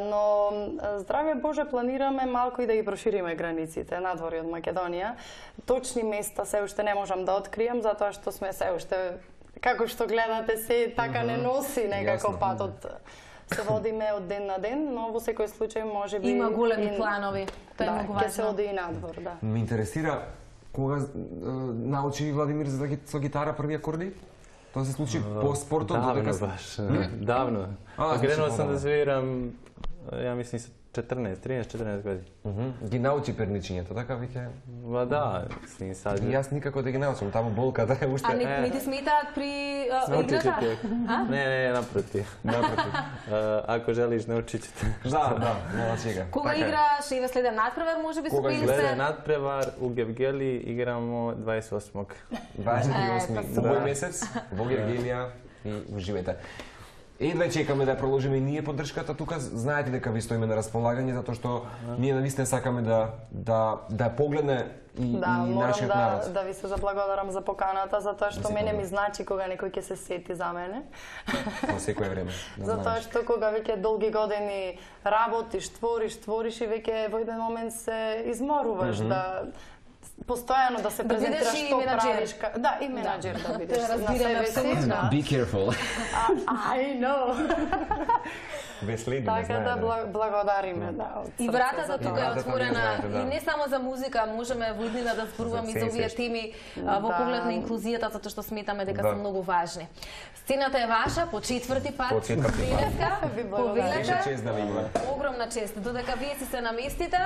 Но здравје Боже, планираме малку и да ги прошириме границите надвор од Македонија. Точни места се уште не можам да откријам, затоа што сме се уште, како што гледате, се така не носи некако патот. Се водиме од ден на ден, но во секој случај може би има големи планови. Тоа е многу важно. Ќе се оди и надвор, да. Ме интересира кога научи Владимир со гитара први акорди? Тоа се случи по спортот? Давно баш, давно. Гренуо сам да свирам, ја мислам, 13-14 години. Ги научи перничињето, така веќе? Ма да, сад. Јас никако да ги научам, таму болката е уште. А не ти сметаат при играта? Не, напротив. Ако желиш, научи ќе те. Да, нема чега. Кога играш и следен надпревар, можеби се поили се? Следен надпревар у Гевгели играмо 28-ог. 28 овој месец во Гевгелија и уживете. Едва чекаме да продолжиме и ние поддршката тука. Знаете дека ви стоиме на располагање затоа што ние навистина сакаме да погледне и нашиот народ. Да ви се заблагодарам за поканата, затоа што мене ми значи кога некој ќе се сети за мене. Во секое време. Затоа што кога веќе долги години работиш, твориш и веќе во еден момент се изморуваш да постојано да се презентираш што правиш. Да, и менаџер да бидеш на себе си. Be careful. I know. Така да благодариме, да. И вратата тука е отворена и не само за музика, можеме во иднина да зборуваме и за овие теми во поглед на инклузијата, затоа што сметаме дека се многу важни. Сцената е ваша по четврти пат. Денеска, повелете. Огромна чест. Додека вие си се наместите,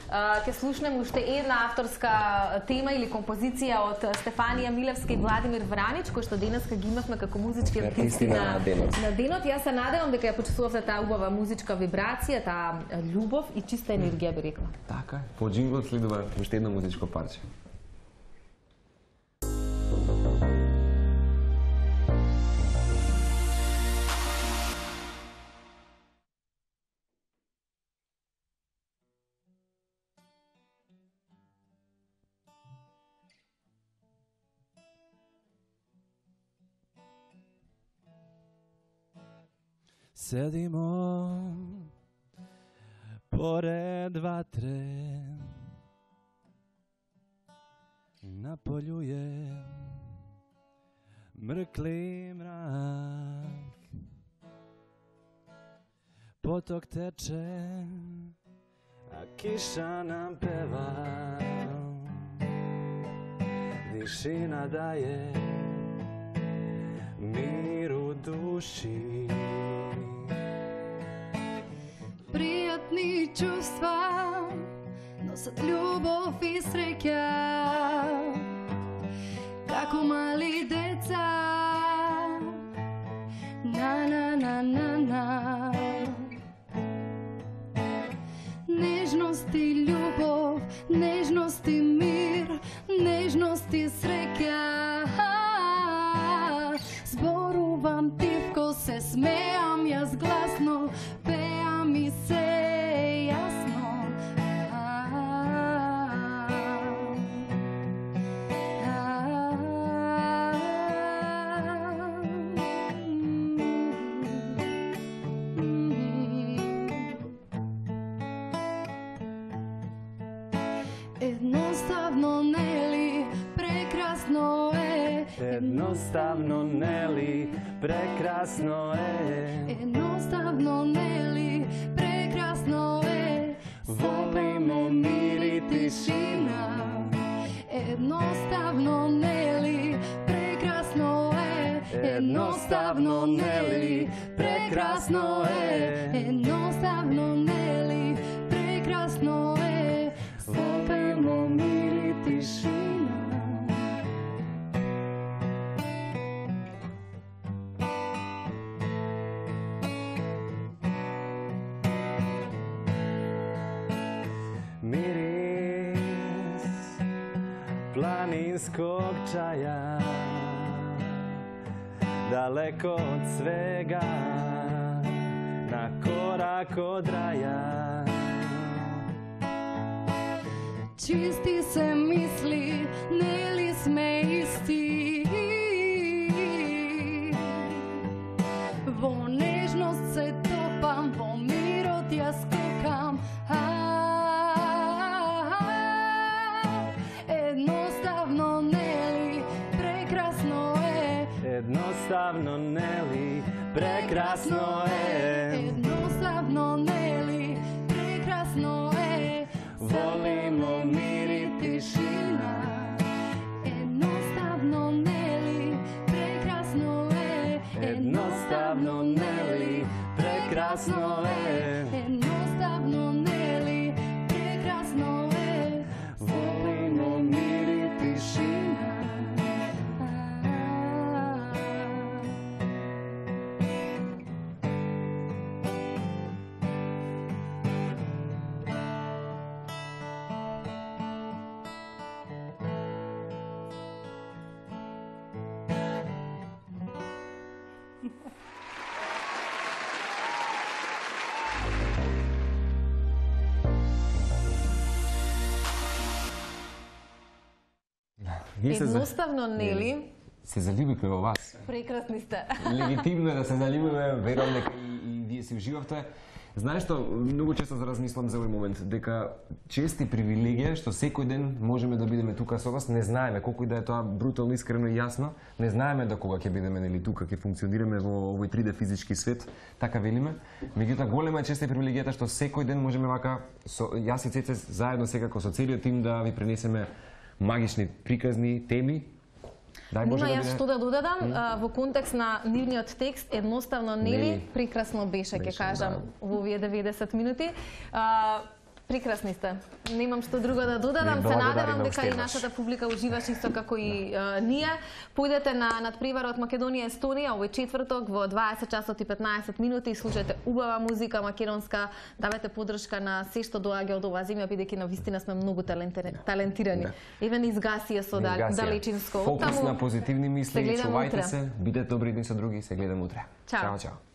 ќе слушнеме уште една авторска тема или композиција од Стефанија Милевска и Владимир Вранич, кој што денеска ги имавме како музички артисти на денот. Јас се надевам дека ја почувствувавте таа убава музичка вибрација, таа љубов и чиста енергија, би рекла. Така, по джингл следува уште едно музичко парче. Седимо поред ватре, на полju je mrkli mrak, potok teče, a kiša nam peva, tišina daje mir u duši. Пријатни чувства носат љубов и среќа, како мали деца. На. Нежност и љубов, нежност и мир, нежност и среќа. Зборувам тивко, се смеам јас гласно, пеам и се јасно, Едноставно нели прекрасно е. Едноставно нели прекрасно е. Едноставно нели прекрасно е. Волимо мир и тишина. Едноставно нели прекрасно е. Едноставно нели прекрасно е. Едноставно нели прекрасно е. Волимо мир и тишина. Мирис планинскog čaja, daleko od svega, na korak od raja. Чисти се мисли, нели сме исти. Во нежност се топам, во мирот ја скокам. Едноставно нели прекрасно е. Едноставно нели прекрасно е. Едноставно нели прекрасно е. Волимо мир и тишина. Едноставно нели прекрасно е. Едноставно нели прекрасно е. Едноставно нели прекрасно е. Волимо мир и тишина. Едноставно нели се заљубивме во вас. прекрасни сте. Легитимно е да се заљубиме, верувам дека и вие си уживавте. Знаеш што, многу често размислам за овој момент, дека чест и привилегија што секој ден можеме да бидеме тука со вас, не знаеме колку и да е тоа брутално, искрено и јасно, не знаеме до кога ќе бидеме нели тука, ќе функционираме во овој 3D физички свет, така велиме. Меѓутоа голема е чест и привилегијата што секој ден можеме вака со јас и Цеце заедно секако со целиот тим да ви пренесеме магични приказни теми. Нема јас што да додадам во контекст на нивниот текст, едноставно нели прекрасно беше, ќе кажам, во овие 90 минути. Прекрасни сте. Немам што друго да додадам. Се надевам дека и нашата публика уживаше исто како и ние. Појдете на надпреварот Македонија Естонија овој четврток во 20 часот и 15 минути и слушајте убава музика македонска, давате поддршка на се што доаѓа од оваа земја, бидејќи навистина сме многу талентирани. Еве низ Гасија со Далечинско. Фокус на позитивни мисли, чувајте се, бидете добри едни со други, се гледаме утре. Чао. Чао.